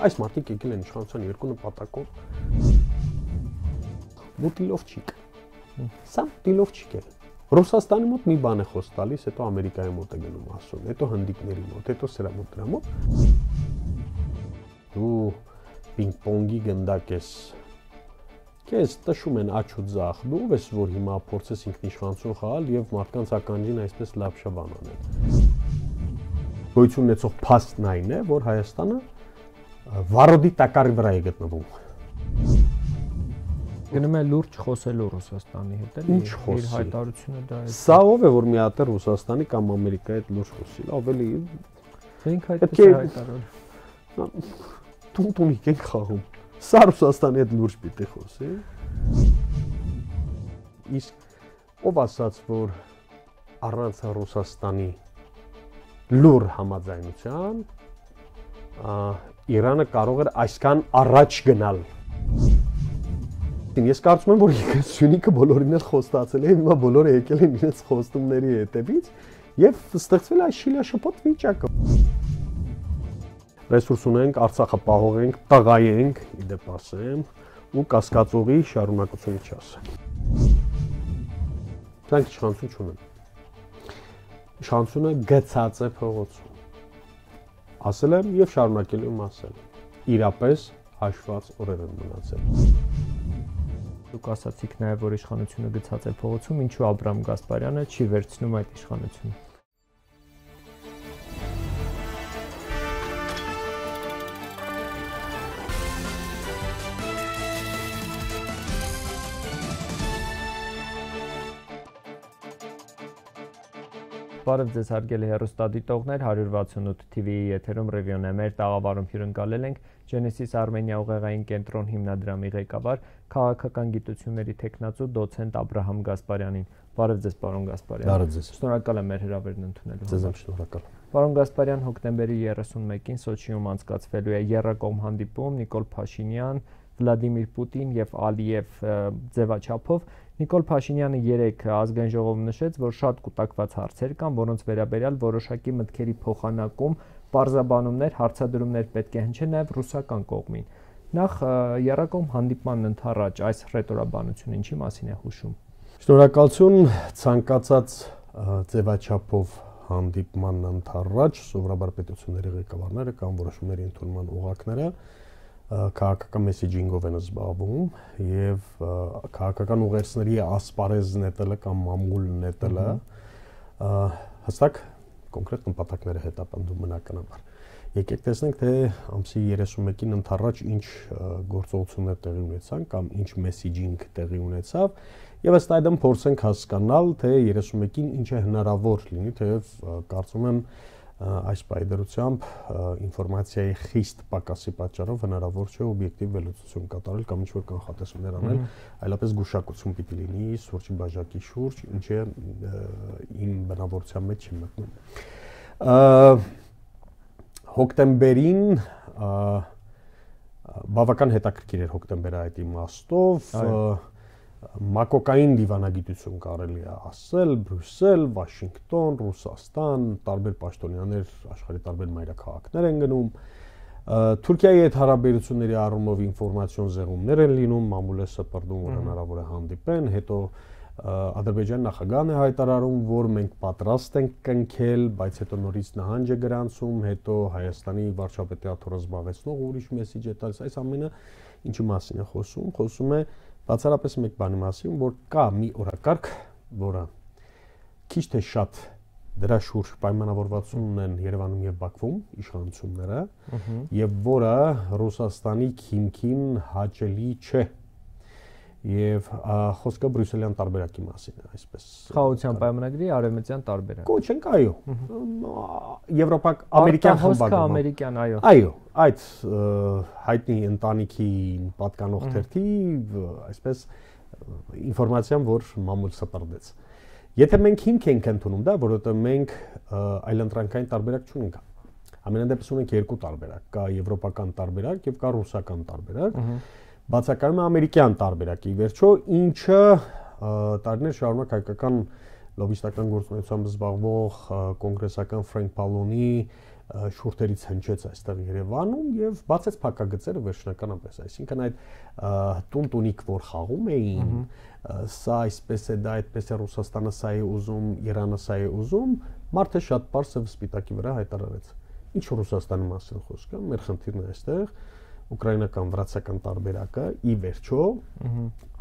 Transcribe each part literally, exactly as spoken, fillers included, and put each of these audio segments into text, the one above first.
այս մարդիկ եկել են իշխանության երկու նպատակով։ Մուտիլովչիկ։ Սա մուտիլովչիկ է։ Ռուսաստանի մոտ մի բան է խոս տալիս, հետո Ամերիկայի մոտ է գնում ասում, հետո հնդիկների մոտ, հետո սրա մոտ դրա մոտ։ Դու պինգ-պոնգի գնդակ ես։ Քեզ տշում են աչու ձախ, դու ով ես, որ հիմա փորձես ինքնիշխանություն խաղալ եւ մարդկանց ականջին այսպես լավ շաբան անել։ Գոյություն ունեցող փաստն այն է, որ Հայաստանը վարոդի տակառի վրա է գտնվում։ Գնում է լուրջ խոսելու Ռուսաստանի հետ, էլի։ Ինչ խոսի։ Իր հայտարարությունը դա է։ Սա ով է, որ մի հատ Ռուսաստանի կամ Ամերիկայի հետ լուրջ խոսի, ավելի մենք այդպես հայտարարել։ Տուն-տունիկ ենք խաղում։ Սա Ռուսաստանի հետ լուրջ պիտի խոսի։ Իսկ ով ասաց, որ առանց Ռուսաստանի լուր համաձայնության Իրանը կարող էր այսքան առաջ գնալ։ Ես կարծում եմ, որ Սյունիքը բոլորին էլ խոստացել է, հիմա բոլորը եկել են իրենց խոստումների հետևից եւ ստեղծվել այս շիլաշփոթ վիճակը։ Ռեսուրս ունենք, Արցախը պահողենք, տղայենք, իդեպ ասեմ, ու կասկածողի շարունակությունը չասեմ։ Դրանք իշխանություն չունեն։ Իշխանությունը գցած է փողոցում։ Ասել եմ եւ շարունակելու եմ ասել։ Իրապես հաշված օրեր են մնացել։ Դուք ասացիք նաեւ, որ իշխանությունը գցած է փողոցում, ինչու Աբրահամ Գասպարյանը չի վերցնում այդ իշխանությունը։ Բարև ձեզ հարգելի հեռուստադիտողներ, հարյուր վաթսունութ թիվիի եթերում ռևիոն է, մեր տաղավարում հյուրընկալել ենք Genesis Armenia ուղեղային կենտրոն հիմնադրամի ղեկավար, քաղաքական գիտությունների թեկնածու դոցենտ Աբրահամ Գասպարյանին։ Բարև ձեզ, պարոն Գասպարյան։ Բարև ձեզ։ Շնորհակալ եմ մեր հրավերն ընդունելու համար։ Ձեզ եմ շնորհակալ։ Պարոն Գասպարյան, հոկտեմբերի երեսունմեկին Սոչիում անցկացվելու է եռակողմ հանդիպում Նիկոլ Փաշինյան, Վլադիմիր Պուտին եւ Ալիև ձևաչափով։ Նիկոլ Փաշինյանը երեկ ազգային ժողովում նշեց, որ շատ կուտակված հարցեր կան, որոնց վերաբերյալ որոշակի մտքերի փոխանակում, պարզաբանումներ, հարցադրումներ պետք է հնչեն նաեւ ռուսական կողմին։ Նախ եռակողմ հանդիպման ընթառաջ այս ռետորաբանությունը ինչի մասին է հուշում։ Շնորհակալություն, ցանկացած ձևաչափով հանդիպման ընթառաջ սովորաբար պետությունների ղեկավարները կամ որոշումների ընդունման օղակները քաղաքական մեսեջինգով են զբաղվում եւ քաղաքական ուղերձների ասպարեզ նետելը կամ մամուլ նետելը հստակ կոնկրետ նպատակները հետապնդում բնականաբար։ Եկեք տեսնենք, թե ամսի երեսունմեկին ընթառաջ ինչ գործողություններ տեղի ունեցան կամ ինչ մեսեջինգ տեղի ունեցավ եւ ըստ այդմ փորձենք հասկանալ, թե երեսունմեկին ինչ է հնարավոր լինի, թեև կարծում եմ այս պայդրությամբ ինֆորմացիայի խիստ պակասի պատճառով հնարավոր չէ օբյեկտիվ վերլուծություն կատարել կամ ինչ-որ կանխատեսումներ անել, այլապես գուշակություն պիտի լինի սուրճի բաժակի շուրջ, ինչը իմ բնավորության մեջ չի մտնում։ Հոկտեմբերին բավական հետաքրքիր էր հոկտեմբերը այդ իմաստով, մակոկային դիվանագիտություն կարելի է ասել, Բրյուսել, Վաշինգտոն, Ռուսաստան, տարբեր պաշտոնյաներ աշխարհի տարբեր մայրաքաղաքներ են գնում։ Թուրքիայի հետ հարաբերությունների առումով ինֆորմացիոն զեղումներ են լինում, մամուլ է սպրդում, որ հնարավոր է հանդիպեն, հետո Ադրբեջանի նախագահն է հայտարարում, որ մենք պատրաստ ենք կնքել, բայց հետո նորից նահանջ է գրանցում, հետո Հայաստանի վարչապետի աթոռը զբաղեցնող ուրիշ մեսեջ է տալիս, այս ամենը ինչի մասին է խոսում, խոսում է բացառապես մեկ բանի մասին, որ կա մի օրակարգ, որը քիչ թե շատ դրա շուրջ պայմանավորվածություն ունեն Երևանում եւ Բաքվում իշխանությունները, եւ որը Ռուսաստանի քիմքին հաճելի չէ։ Եվ խոսքը բրյուսելյան տարբերակի մասին է, այսպես։ Խաղաղության պայմանագրի արևմտյան տարբերակ։ Կոչենք, այո։ Եվրոպա ամերիկյան խմբակը, ամերիկյան, այո։ Այո, այդ հայտնի ընտանիքի պատկանող թերթի, այսպես ինֆորմացիան, որ մամուլ սպրդեց։ Եթե մենք հիմք ենք ընդունում դա, որովհետև մենք այլընտրանքային տարբերակ չունենք։ Ամենայն դեպս ունենք երկու տարբերակ, կա եվրոպական տարբերակ եւ կա ռուսական տարբերակ։ Բացակայում է ամերիկյան տարբերակի վերջո, ինչը տարիներ շարունակ հայկական լոբիստական գործունեությամբ զբաղվող կոնգրեսական Ֆրենկ Պալոնի շուրթերից հնչեց այստեղ Երևանում եւ բացեց փակագծերը վերջնականապես, այսինքն այդ տուն-տունիկ որ խաղում էին, սա այսպես է, դա այդպես է, Ռուսաստանը սա է ուզում, Իրանը սա է ուզում, մարդը շատ པարզ եւ սպիտակի վրա հայտարարեց։ Ինչ Ռուսաստանի մասին խոսքը, մեր խնդիրն է այստեղ, ուկրաինական վրացական տարբերակը ի վերջո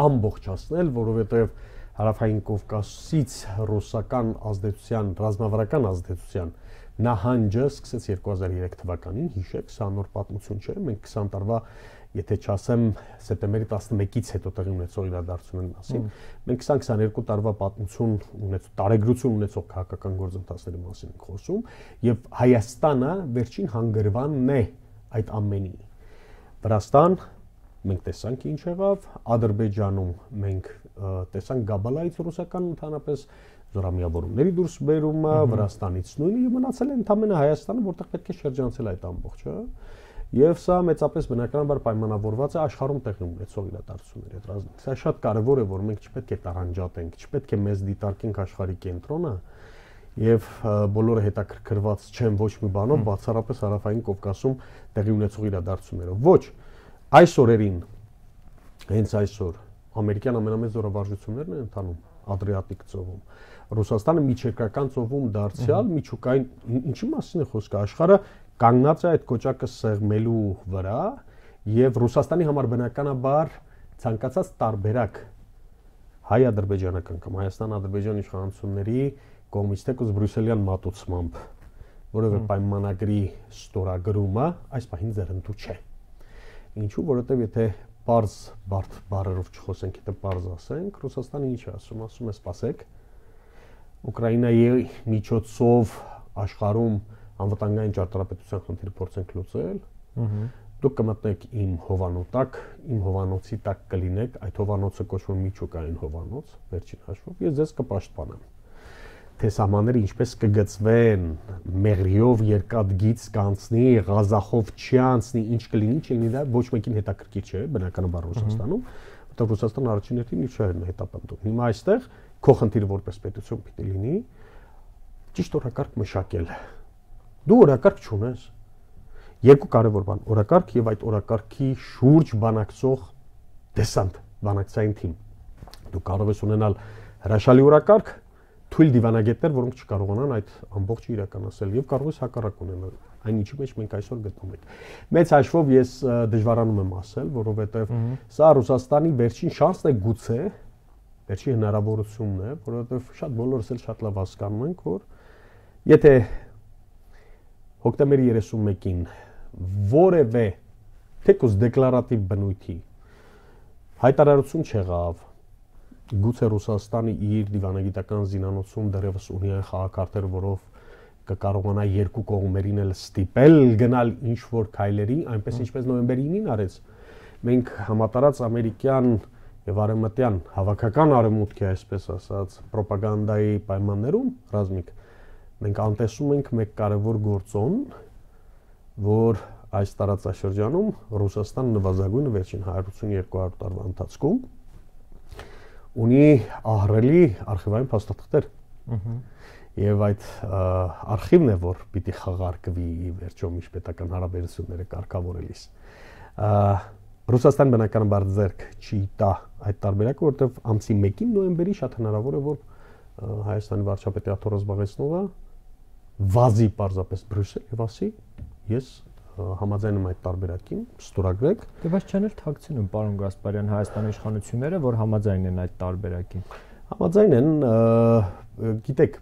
ամբողջացնել, որովհետեւ Հարավային Կովկասից ռուսական ազդեցության, ռազմավարական ազդեցության նահանջը սկսեց երկու հազար երեք թվականին, հիշեք, սա նոր պատմություն չէ, մենք քսան տարվա, եթե չասեմ, սեպտեմբերի տասնմեկից հետո տեղի ունեցող իրադարձությունների մասին, մենք քսան քսաներկու տարվա պատմություն ունեցող, տարեգրություն ունեցող քաղաքական գործընթացների մասին ենք խոսում, եւ Հայաստանը վերջին հանգրվանն է այդ ամենի։ Վրաստան մենք տեսանք ինչ եղավ, Ադրբեջանում մենք տեսանք Գաբալայից ռուսական ընդհանրապես զորամիավորումների դուրս բերումը, Վրաստանից նույնը եւ մնացել է ընդամենը Հայաստանը, որտեղ պետք է շրջանցել այդ ամբողջը։ Եվ սա մեծապես բնականաբար պայմանավորված է աշխարհում տեղի ունեցող իրադարձությունների հետ ռազմիկ։ Սա շատ կարևոր է, որ մենք չպետք է տարանջատենք, չպետք է մեզ դիտարկենք աշխարհի կենտրոնը եւ բոլորը հետաքրքրված չեն ոչ մի բանով, բացառապես Հարավային Կովկասում տեղի ունեցող իրադարձություններով։ Ոչ, այս օրերին, հենց այսօր ամերիկյան ամենամեծ զորավարժություններն են ընթանում Ադրիատիկ ծովում։ Ռուսաստանը միջերկրական ծովում դարձյալ միջուկային ինչի մասին է խոսքը, աշխարհը կանգնած է այդ կոճակը սեղմելու վրա եւ Ռուսաստանի համար բնականաբար ցանկացած տարբերակ հայ-ադրբեջանական կամ Հայաստան-ադրբեջան իշխանությունների կողմից թեկուզ բրյուսելյան մատուցմամբ որևէ պայմանագրի ստորագրումը այս պահին ձեռնտու չէ։ Ինչու, որովհետեւ եթե Պարզ բարդ բառերով չխոսենք, եթե պարզ ասենք, Ռուսաստանը ինչ է ասում, ասում է սպասեք, Ուկրաինայի միջոցով աշխարհում անվտանգային ճարտարապետության խնդիրը փորձենք լուծել, դուք կմտնեք իմ հովանոց, իմ հովանոցի տակ կլինեք, այդ հովանոցը կոչվում է միջուկային հովանոց, վերջին հաշվով, ես ձեզ կպաշտպանեմ։ Թե սահմանները ինչպես կգծվեն, մեղրիով երկաթգիծ կանցնի, Ղազախով չանցնի, ինչ կլինի, չլինի, դա ոչ մեկին հետաքրքիր չէ, բնականաբար Ռուսաստանում, որտեղ Ռուսաստանը առաջին հերթին իր շահերն է հետապնդում։ Հիմա այստեղ քո խնդիրը որպես պետություն պիտի լինի ճիշտ օրակարգ մշակել։ Դու օրակարգ չունես։ Երկու կարևոր բան՝ օրակարգ եւ այդ օրակարգի շուրջ բանակցող դեսանտ, բանակցային թիմ։ Դու կարող ես ունենալ հրաշալի օրակարգ, թույլ դիվանագետներ, որոնք չկարողանան այդ ամբողջը իրականացնել եւ կարող ես հակառակ ունենալ այն ինչի մեջ մենք այսօր գտնվում ենք։ Մեծ հաշվով ես դժվարանում եմ ասել, որովհետեւ սա Ռուսաստանի վերջին շանսն է գուցե, վերջին հնարավորությունն է, որովհետեւ շատ բոլորս էլ շատ լավ հասկանում ենք, որ եթե հոկտեմբերի երեսունմեկին որևէ թեկուզ դեկլարատիվ բնույթի հայտարարություն չեղավ, գուցե Ռուսաստանը իր դիվանագիտական զինանոցում դեռևս ունի այն խաղակարգերը, որով կկարողանա երկու կողմերին էլ ստիպել գնալ ինչ որ քայլերի, այնպես ինչպես նոյեմբերի ինին արեց։ Մենք համատարած ամերիկյան եւ արևմտյան հավաքական արևմուտքի, այսպես ասած, ռոպագանդայի պայմաններում ռազմիկ մենք անտեսում ենք մեկ կարևոր գործոն, որ այս տարածաշրջանում Ռուսաստանը նվազագույնը վերջին հարյուր ութսունյոթ հարյուր տարվա ընթացքում ունի ահռելի արխիվային փաստաթղթեր։ Եվ այդ արխիվն է, որ պիտի խաղարկվի վերջո միջպետական հարաբերությունները կարգավորելիս։ Ռուսաստան բնականաբար ձեռք չի տա այդ տարբերակը, որովհետև ամսի մեկին նոյեմբերի շատ հնարավոր է, որ Հայաստանի վարչապետի աթոռը զբաղեցնողը վազի պարզապես Բրյուսել եւ ասի, ես համաձայն եմ այդ տարբերակին, ստորագրեք։ Դե բայց չեն էլ թաքցնում, պարոն Գասպարյան, Հայաստանի իշխանությունները, որ համաձայն են այդ տարբերակին։ Համաձայն են, գիտեք,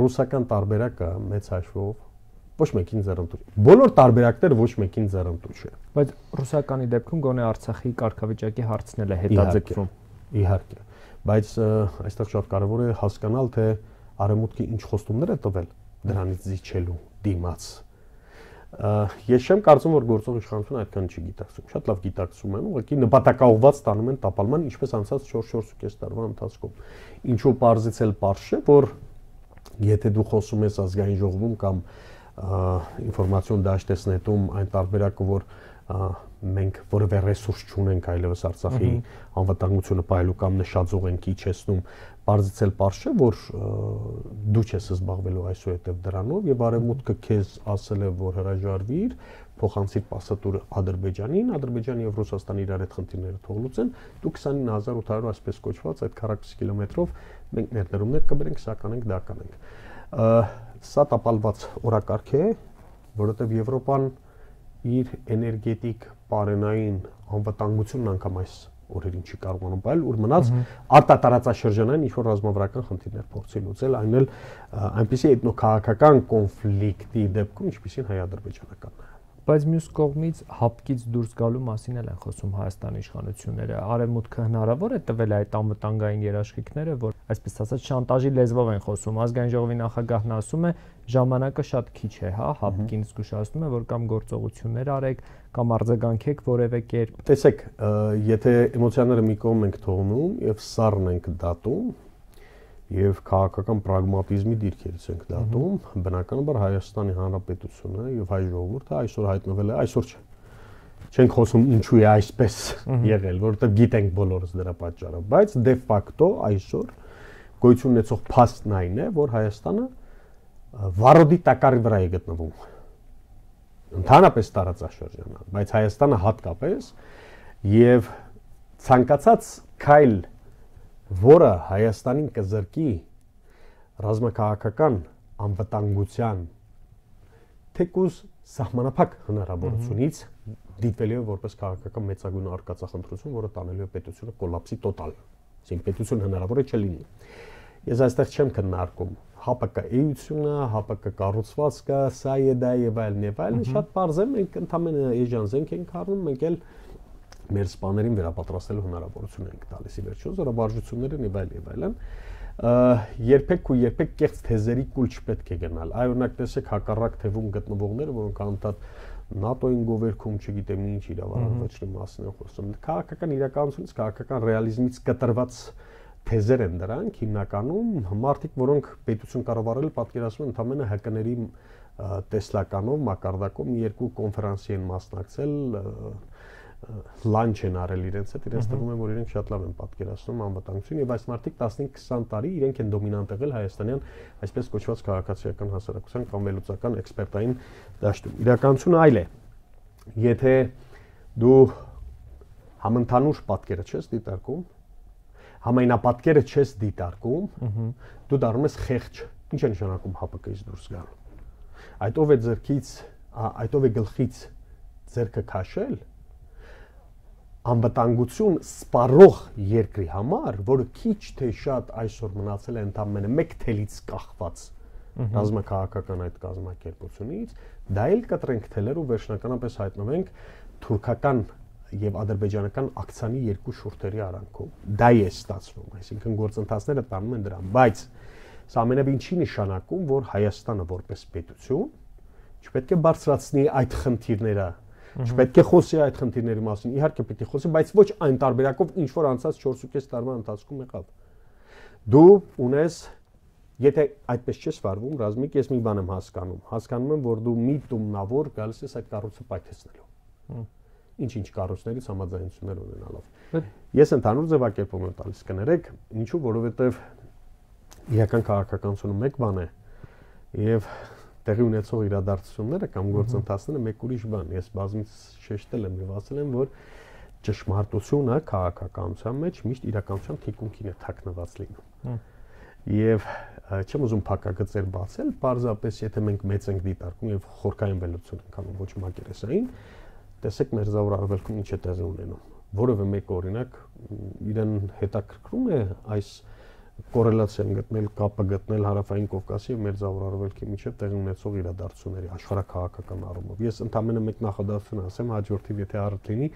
ռուսական տարբերակը մեծ հաշվով ոչ մեկին ձեռնտու չէ։ Բոլոր տարբերակները ոչ մեկին ձեռնտու չէ։ Բայց ռուսականի դեպքում գոնե Արցախի կարգավիճակի հարցն էլ է հետաձգվում։ Իհարկե, բայց այստեղ շատ կարևոր է հասկանալ, թե արևմուտքը ինչ խոստումներ է տվել դրանից զիջելու դիմաց։ Ես չեմ կարծում, որ գործող իշխանությունը այդքան չի գիտակցում։ Շատ լավ գիտակցում են, ուղղակի նպատակաուղղված տանում են տապալման, ինչպես անցած չորս չորս տարվա ընթացքում։ Ինչու պարզից էլ պարզ չէ, որ եթե դու խոսում ես ազգային ժողովում կամ ինֆորմացիոն դաշտեսնետում այն տարբերակը, որ մենք որևէ ռեսուրս չունենք այլևս Արցախի անվտանգությունը պահելու կամ նշաձող ենք իջեցնում, բարձից էլ պարզ չէ, որ դու չես զբաղվելու այսուհետև դրանով եւ արևմուտքը քեզ ասել է, որ հրաժարվիր, փոխանցիր պասատուրը Ադրբեջանին, Ադրբեջանը եւ Ռուսաստանը իրար այդ խնդիրները թող լուծեն, դու քսանինը հազար ութ հարյուր այսպես կոչված այդ քառակուսի կիլոմետրով մենք ներդրումներ կբերենք, սա կանենք, դա կանենք։ Սա տապալված օրակարգ է, որովհետեւ Եվրոպան իր էներգետիկ պարենային անվտանգությունն անգամ այս օրերին չի կարողանում պահել, ուր մնաց արտատարածաշրջանային ինչ-որ ռազմավարական խնդիրներ փորձի լուծել, այն էլ այնպիսի էթնոքաղաքական կոնֆլիկտի դեպքում, ինչպիսին հայ-ադրբեջանականն է։ Բայց մյուս կողմից հապկից դուրս գալու մասին էլ են խոսում Հայաստանի իշխանությունները։ Արևմուտքը հնարավոր է տվել այդ անվտանգային երաշխիքները, որ այսպես ասած շանտաժի լեզվով են խոսում։ Ազգային ժողովի նախագահն ասում է, ժամանակը շատ քիչ է, հա, հապկին զգուշացնում է, որ կամ գործողություններ արեք, կամ արձագանքեք որևէ կերպ։ Տեսեք, եթե էմոցիաները մի կողմ ենք թողնում եւ սառն ենք դատում, եւ քաղաքական պրագմատիզմի դիրքերից ենք դատում, բնականաբար Հայաստանի Հանրապետությունը եւ հայ ժողովուրդը այսօր հայտնվել է, այսօր չէ։ Չենք խոսում ինչու է այսպես եղել, որովհետեւ գիտենք բոլորս դրա պատճառը, բայց դե ֆակտո այսօր գոյություն ունեցող փաստն այն է, որ Հայաստանը վարոդի տակարի վրա է գտնվում։ Ընդհանրապես տարածաշրջանալ, բայց Հայաստանը հատկապես եւ ցանկացած քայլ, որը Հայաստանին կզրկի ռազմաքաղաքական անվտանգության թեկուզ սահմանափակ հնարավորությունից դիտվելու է որպես քաղաքական մեծագույն արկածախնդրություն, որը տանելու է պետությունը կոլապսի տոտալ, այսինքն պետություն հնարավոր է չլինի։ Ես այստեղ չեմ քննարկում ՀԱՊԿ-էությունը, ՀԱՊԿ կառուցվածքը, սա է դա եւ այլն եւ այլն, շատ պարզ է, մենք ընդհանրապես էժան զենք ենք առնում, մենք էլ մեր սպաներին վերապատրաստելու հնարավորություն ենք տալիս ի վերջո, զորավարժությունները եւ այլ եւ այլն, երբեք ու երբեք կեղծ թեզերի կուլ չպետք է գնալ։ Այ օրինակ տեսեք հակառակ թևում գտնվողները, որոնք անընդհատ ՆԱՏՕ-ին գովերքում, չգիտեմ ինչ իրավարարվեցնի մասին են խոսում։ Քաղաքական իրականությունից, քաղաքական ռեալիզմից կտրված թեզեր են դրանք, հիմնականում մարդիկ, որոնք պետություն կառավարել, պատկերացնում են ընդհանրապես ՀԿ-ների տեսլականով, մակարդակով մի երկու կոնֆերանսի են մասնակցել, լանչ են արել իրենց հետ, իրենց թվում է, որ իրենք շատ լավ են պատկերացնում անվտանգություն եւ այս մարդիկ տասնհինգ քսան տարի իրենք են դոմինանտ եղել հայաստանյան այսպես կոչված քաղաքացիական հասարակության կամ վերլուծական էքսպերտային դաշտում։ Իրականությունը այլ է։ Եթե դու համընդհանուր պատկերը չես դիտարկում, համայնապատկերը չես դիտարկում, դու դառնում ես խեղճ։ Ինչ է նշանակում ՀԱՊԿ-ից դուրս գալ։ Այդ ով է ձեռքից, այդ ով է գլխից ձեռքը քաշել անվտանգություն սպառող երկրի համար, որը քիչ թե շատ այսօր մնացել է ընդամենը մեկ թելից կախված ռազմաքաղաքական այդ կազմակերպությունից, դա էլ կտրենք թելեր ու վերջնականապես հայտնվենք թուրքական եւ ադրբեջանական ակցիանի երկու շուրթերի արանքում։ Դա է ստացվում, այսինքն գործընթացները տանում են դրան, բայց սա ամենևին չի նշանակում, որ Հայաստանը որպես պետություն չպետք է բարձրացնի այդ խնդիրները, չպետք է խոսի այդ խնդիրների մասին, իհարկե պետք է խոսի, բայց ոչ այն տարբերակով, ինչ որ անցած չորս տարվա ընթացքում եղավ։ Դու ունես, եթե այդպես չես վարվում, Ռազմիկ, ես մի բան եմ հասկանում, հասկանում եմ, որ դու միտումնավոր գալիս ես այդ կառույցը պայթեցնելու։ Ինչ-ինչ կառույցներից համաձայնություններ ունենալով։ Ես ընդհանուր ձևակերպում եմ տալիս, կներեք, ինչու, որովհետև իրական քաղաքականությունը մեկ բան է եւ տեղի ունեցող իրադարձությունները կամ գործընթացները մեկ ուրիշ բան։ Ես բազմից շեշտել եմ եւ ասել եմ, որ ճշմարտությունը քաղաքականության մեջ միշտ իրականության թիկունքին է թաքնված լինում։ Եվ չեմ ուզում փակագծեր բացել, պարզապես եթե մենք մեծ ենք դիտարկում եւ խորքային վերլուծություն ենք անում, ոչ մակերեսային, տեսեք մեր զավոր արվելքում ինչ է տեղի ունենում։ Որևէ մեկ օրինակ իրեն հետաքրքրում է այս կորելացիան գտնել, կապը գտնել Հարավային Կովկասի եւ մեր զավոր արվելքի միջեւ տեղի ունեցող իրադարձությունների աշխարհաքաղաքական առումով։ Ես ընդամենը մեկ նախադասություն ասեմ, հաջորդիվ եթե առիթ լինի,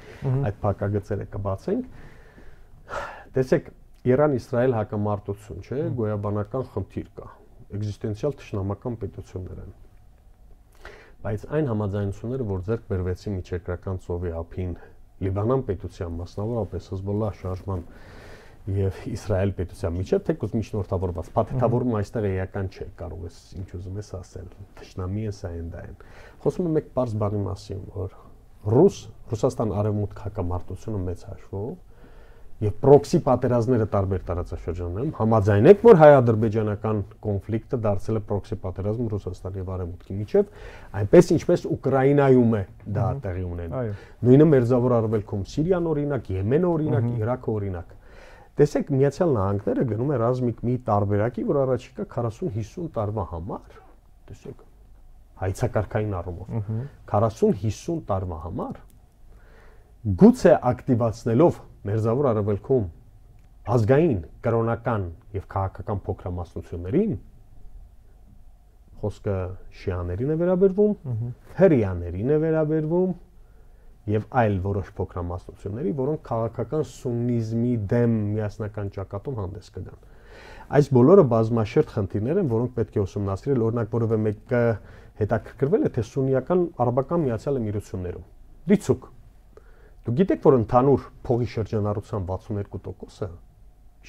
այդ փակագծերը կբացենք։ Տեսեք, Իրան-Իսրայել հակամարտություն, չէ, գոյաբանական խնդիր կա, էգզիստենցիալ թշնամական պետություններ են։ Բայց այն համաձայնությունները, որ ձեռք բերվեցին միջերկրական ծովի ափին Լիբանան պետության, մասնավորապես Հեզբոլլահ շարժման եւ Իսրայել պետության միջեւ, թեկուզ միջնորդավորված, փաթեթավորումը այստեղ էական չէ, կարող ես ինչ ուզում ես ասել, թշնամի են, սա են, դա են։ Խոսում եմ մեկ պարզ բանի մասին, որ ռուս, Ռուսաստան արևմուտք հակամարտությունը մեծ հաշվով եւ պրոքսի պատերազմները տարբեր տարածաշրջաններում համաձայն եք, որ հայ-ադրբեջանական կոնֆլիկտը դարձել է պրոքսի պատերազմ Ռուսաստանի եւ արևմուտքի միջեւ, այնպես ինչպես Ուկրաինայում է դա տեղի ունենում։ Նույնը Մերձավոր Արևելքում Սիրիան օրինակ, Եմենը օրինակ, Իրաքը օրինակ։ Տեսեք, Միացյալ Նահանգները գնում է ռազմիկ մի տարբերակի, որ առաջիկա քառասուն-հիսուն տարվա համար, տեսեք, հայցակարգային առումով քառասուն-հիսուն տարվա համար գուցե ակտիվացնելով Մերձավոր Արևելքում ազգային, կրոնական եւ քաղաքական փոքրամասնություններին, խոսքը շիաներին է վերաբերվում, հրեաներին է վերաբերվում եւ այլ որոշ փոքրամասնությունների, որոնք քաղաքական սուննիզմի դեմ միասնական ճակատում հանդես կգան։ Այս բոլորը բազմաշերտ խնդիրներ են, որոնք պետք է ուսումնասիրել, օրինակ որևէ մեկը հետաքրքրվել է թե սուննիական արաբական Միացյալ Էմիրություններում։ Դիցուկ Դուք գիտեք, որ ընդհանուր փողի շրջանառության վաթսուններկու տոկոսը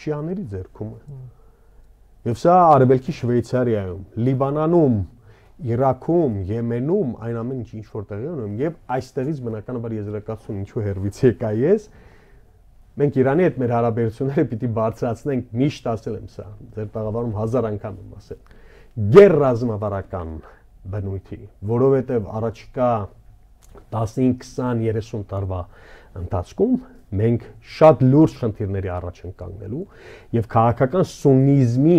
շիաների ձեռքում է։ Եվ սա Արևելքի Շվեյցարիայում, Լիբանանում, Իրաքում, Եմենում, այն ամեն ինչ ինչ որ տեղի ունում, եւ այստեղից բնականաբար եզրակացություն ինչու հերվից եկա ես, մենք Իրանի հետ մեր հարաբերությունները պիտի բարձրացնենք, միշտ ասել եմ սա, ձեր տաղավարում հազար անգամ եմ ասել, գերրազմավարական բնույթի, որովհետեւ առաջիկա տասնհինգ, քսան, երեսուն տարվա ընթացքում մենք շատ լուրջ խնդիրների առաջ ենք կանգնելու եւ քաղաքական սուննիզմի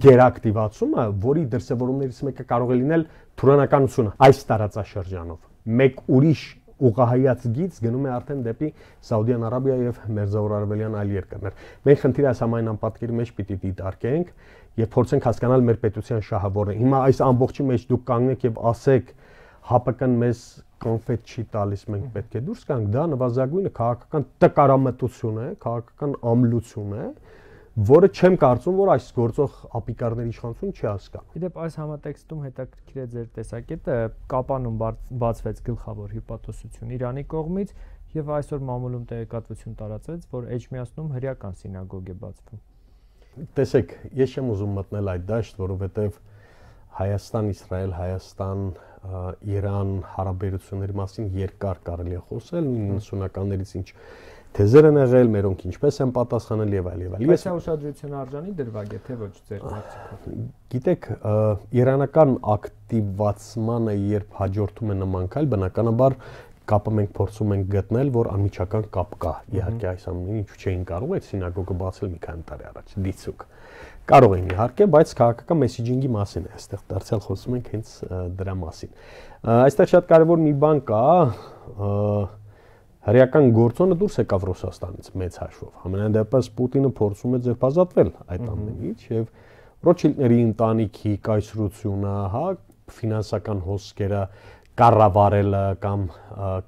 գերակտիվացումը, որի դրսևորումներից մեկը կարող է լինել թուրանականությունը այս տարածաշրջանով։ Մեկ ուրիշ ուղղահայաց գիծ գնում է արդեն դեպի Սաուդյան Արաբիա եւ Մերձավոր Արևելյան այլ երկրներ։ Մենք խնդիրը այս համայն անպատկերի մեջ պիտի դիտարկենք եւ փորձենք հասկանալ մեր պետության շահավորը։ Հիմա այս ամբողջի մեջ դուք կանգնեք եւ ասեք ՀԱՊԿ-ն մեզ կոնֆետ չի տալիս, մենք պետք է դուրս գանք, դա նվազագույնը քաղաքական տկարամտություն է, քաղաքական ամլություն է, որը չեմ կարծում, որ այս գործող ապիկարների իշխանությունը չի հասկանում։ Իդեպ այս համատեքստում հետաքրքիր է ձեր տեսակետը, Կապանում բացվեց գլխավոր հյուպատոսություն Իրանի կողմից եւ այսօր մամուլում տեղեկատվություն տարածվեց, որ Էջմիածնում հրեական սինագոգ է բացվում։ Տեսեք, ես չեմ ուզում մտնել այդ դաշտ, որովհետեւ Հայաստան, Իսրայել, Հայաստան, Իրան հարաբերությունների մասին երկար կարելի է խոսել, նույնսունականներից ինչ թեզեր են եղել, մերոնք ինչպես են պատասխանել եւ այլ եւ այլ։ Այս ուշադրություն արժանի դրվագ է, թե ոչ ձեր կարծիքով։ Գիտեք, իրանական ակտիվացմանը երբ հաջորդում է նման քայլ, բնականաբար կապը մենք փորձում ենք գտնել, որ անմիջական կապ կա։ Իհարկե այս ամենը ինչու չէին կարող այդ սինագոգը բացել մի քանի տարի առաջ, դիցուկ։ Կարող են իհարկե, բայց քաղաքական մեսեջինգի մասին է, այստեղ դարձյալ խոսում ենք հենց դրա մասին։ Այստեղ շատ կարևոր մի բան կա, հրեական գործոնը դուրս եկավ Ռուսաստանից մեծ հաշվով։ Համենայն դեպս Պուտինը փորձում է ձերբազատվել այդ ամենից եւ Ռոթշիլդների ընտանիքի կայսրությունը, հա, ֆինանսական հոսքերը կառավարելը կամ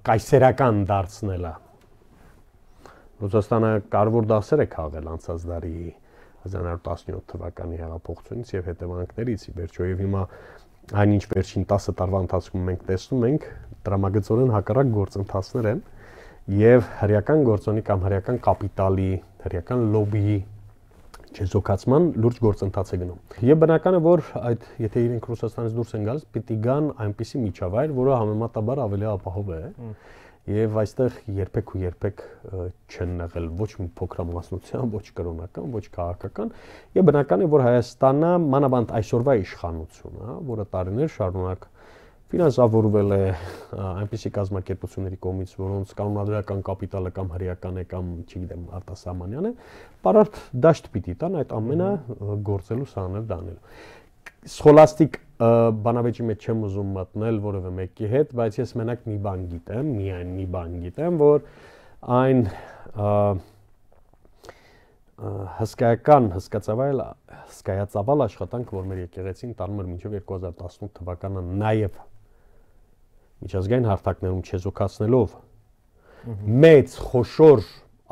կայսերական դարձնելը։ Ռուսաստանը կարևոր դասեր է քաղել անցած դարի հազար նորը տասնյոթ թվականի հեղափոխությունից եւ հետևանքներից ի վերջո եւ հիմա այնինչ վերջին տասը տարվա ընթացքում մենք տեսնում ենք դրամագծորեն հակառակ գործընթացներ են եւ հրեական գործոնի կամ հրեական կապիտալի, հրեական լոբիի չեզոքացման լուրջ գործընթաց է գնում։ Եվ բնական է, որ այդ եթե իրենք Ռուսաստանից դուրս են գալիս, պիտի գան այնպիսի միջավայր, որը համեմատաբար ավելի ապահով է։ Եվ այստեղ երբեք ու երբեք չեն եղել ոչ մի փոքրամասնության, ոչ կրոնական, ոչ քաղաքական, եւ բնական է, որ Հայաստանը մանավանդ այսօրվա իշխանությունը, որը տարիներ շարունակ ֆինանսավորվել է այնպիսի կազմակերպությունների կողմից, որոնց կանոնադրական կապիտալը կամ հրեական է կամ, չգիտեմ, արտասահմանյան է, պարարտ դաշտ պիտի տան այդ ամենը գործելու սահաներ դանելու։ Սխոլաստիկ բանավեճի մեջ չեմ ուզում մտնել որևէ մեկի հետ, բայց ես մենակ մի բան գիտեմ, միայն մի բան գիտեմ, որ այն հսկայական, հսկացավայել, հսկայածավալ աշխատանք, որ մեր եկեղեցին տանում էր մինչև երկու հազար տասնութ թվականը, նաև միջազգային հարթակներում չեզոքացնելով մեծ խոշոր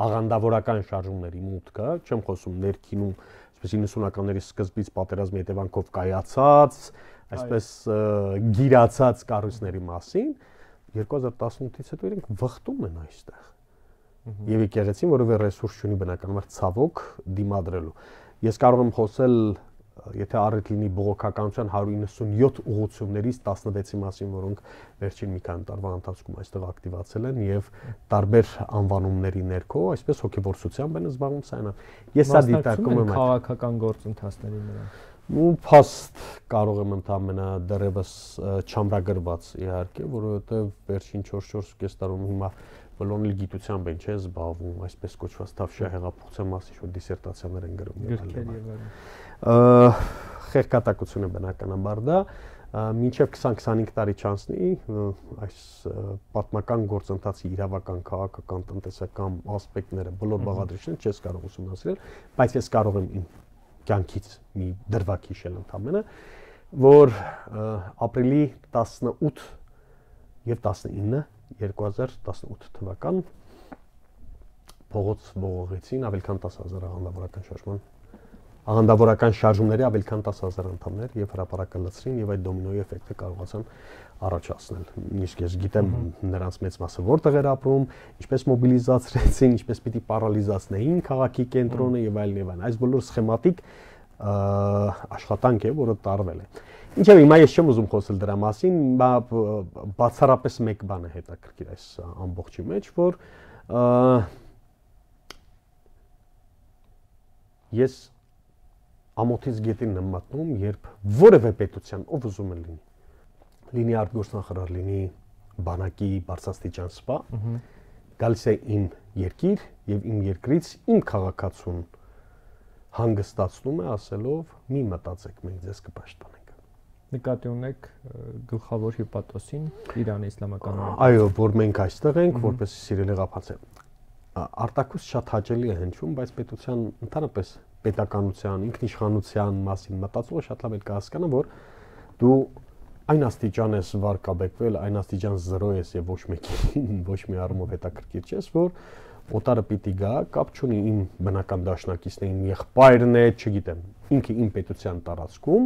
աղանդավորական շարժումների մուտքը, չեմ խոսում ներքինում, այսպես իննսունականների սկզբից պատերազմի հետևանքով կայացած, այսպես գիրացած կառույցների մասին, երկու հազար տասնութից հետո իրենք վխտում են այստեղ։ Եվ եկեղեցին որևէ ռեսուրս չունի բնականաբար ցավոք դիմադրելու։ Ես կարող եմ խոսել եթե առիթ լինի բողոքականության հարյուր իննսունյոթ ուղղություններից տասնվեցի մասին, որոնք վերջին մի քանի տարվա ընթացքում այստեղ ակտիվացել են եւ տարբեր անվանումների ներքո, այսպես հոգեվորսությամբ են զբաղվում սայնա։ Ես սա դիտարկում եմ քաղաքական գործընթացների նրան։ Ու փաստ կարող եմ ընդամենը դեռևս չամրագրված իհարկե, որովհետեւ վերջին չորս-չորս տարում հիմա բոլորն գիտությամբ են չէ զբաղվում, այսպես կոչված թավշյա հեղափոխության մասին շուտ դիսերտացիաներ են գրում եւ այլն։ Խերկատակությունը բնականաբար դա մինչև քսան-քսանհինգ տարի չանցնի այս պատմական գործընթացի իրավական, քաղաքական, տնտեսական ասպեկտները բոլոր բաղադրիչները չես կարող ուսումնասիրել, բայց ես կարող եմ իմ կյանքից մի դրվագ հիշել ընդամենը, որ ապրիլի տասնութ եւ տասնինը երկու հազար տասնութ թվական փողոց ողողեցին ավելի քան տասը հազար աղանդավորական շարժման աղանդավորական շարժումների ավելի քան տասը հազար անդամներ եւ հրապարակը լցրին եւ այդ դոմինոյի էֆեկտը կարողացան առաջացնել։ Նույնիսկ ես գիտեմ նրանց մեծ մասը որտեղ էր ապրում, ինչպես մոբիլիզացրեցին, ինչպես պիտի պարալիզացնեին քաղաքի կենտրոնը եւ այլն եւ այլն։ Այս բոլոր սխեմատիկ աշխատանք է, որը տարվել է։ Ինչեւ հիմա ես չեմ ուզում խոսել դրա մասին, բացառապես մեկ բան է հետաքրքիր այս ամբողջի մեջ, որ ես ամոթից գետին եմ մատնում, երբ որևէ պետության ով ուզում է լինի, լինի արտգործնախարար, լինի բանակի բարձրաստիճան սպա, գալիս է իմ երկիր եւ իմ երկրից իմ քաղաքացուն հանգստացնում է ասելով՝ մի մտածեք, մենք ձեզ կպաշտպանենք։ Նկատի ունեք գլխավոր հիպատոսին Իրանի իսլամական հանրապետությունում։ Այո, որ մենք այստեղ ենք, որպես սիրելի ղափացել։ Արտակուս շատ հաճելի է հնչում, բայց պետության ընդհանրապես պետականության, ինքնիշխանության մասին մտածողը շատ լավ է կհասկանա, որ դու այն աստիճան ես վարկաբեկվել, այն աստիճան զրո ես եւ ոչ մեկին ոչ մի առումով հետաքրքիր չես, որ օտարը պիտի գա, կապ չունի իմ բնական դաշնակիցն է, իմ եղբայրն է, չգիտեմ, ինքը իմ պետության տարածքում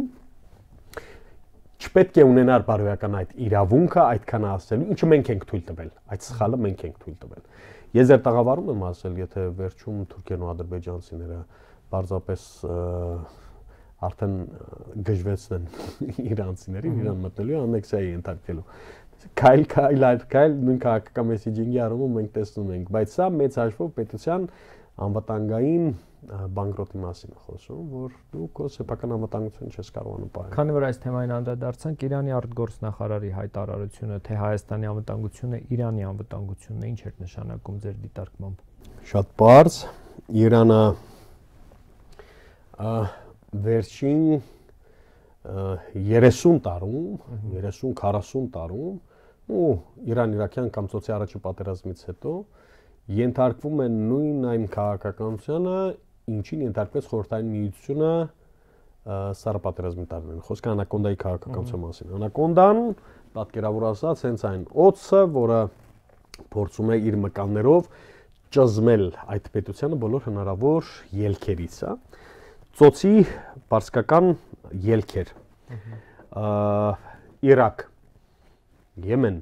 չպետք է ունենար բարոյական այդ իրավունքը այդքան ասելու, ինչը մենք ենք թույլ տվել, այդ սխալը մենք ենք թույլ տվել։ Ես ձեր տաղավարում եմ ասել, եթե վերջում թուրքերն ու ադրբեջանցիները պարզապես արդեն գժվեցնեն իրանցիներին, իրան մտնելու անեքսիայի ենթարկվելու։ Քայլ քայլ այլ քայլ նույն քաղաքական մեսեջինգի առումով մենք տեսնում ենք, բայց սա մեծ հաշվով պետության անվտանգային բանկրոտի մասին է խոսում, որ դու քո սեփական անվտանգությունը չես կարողանում պահել։ Քանի որ այս թեմային անդրադարձանք, Իրանի արտգործնախարարի հայտարարությունը, թե Հայաստանի անվտանգությունը Իրանի անվտանգությունն է, ինչ էր նշանակում ձեր դիտարկմամբ։ Շատ բարձ, Իրանը վերջին երեսուն տարում, երեսուն-քառասուն տարում, ու Իրան-Իրաքյան կամ ծոցի առաջի պատերազմից հետո ենթարկվում է նույն այն քաղաքականությանը, ինչին ենթարկվեց Խորհրդային Միությունը սառապատերազմի տարիներին։ Խոսքը Անակոնդայի քաղաքականության մասին։ Անակոնդան, պատկերավոր ասած, հենց այն օձը, որը փորձում է իր մկաններով ճզմել այդ պետությանը բոլոր հնարավոր ելքերից, հա։ Ծոցի բարձկական ելքեր։ Իրաք, Եմեն,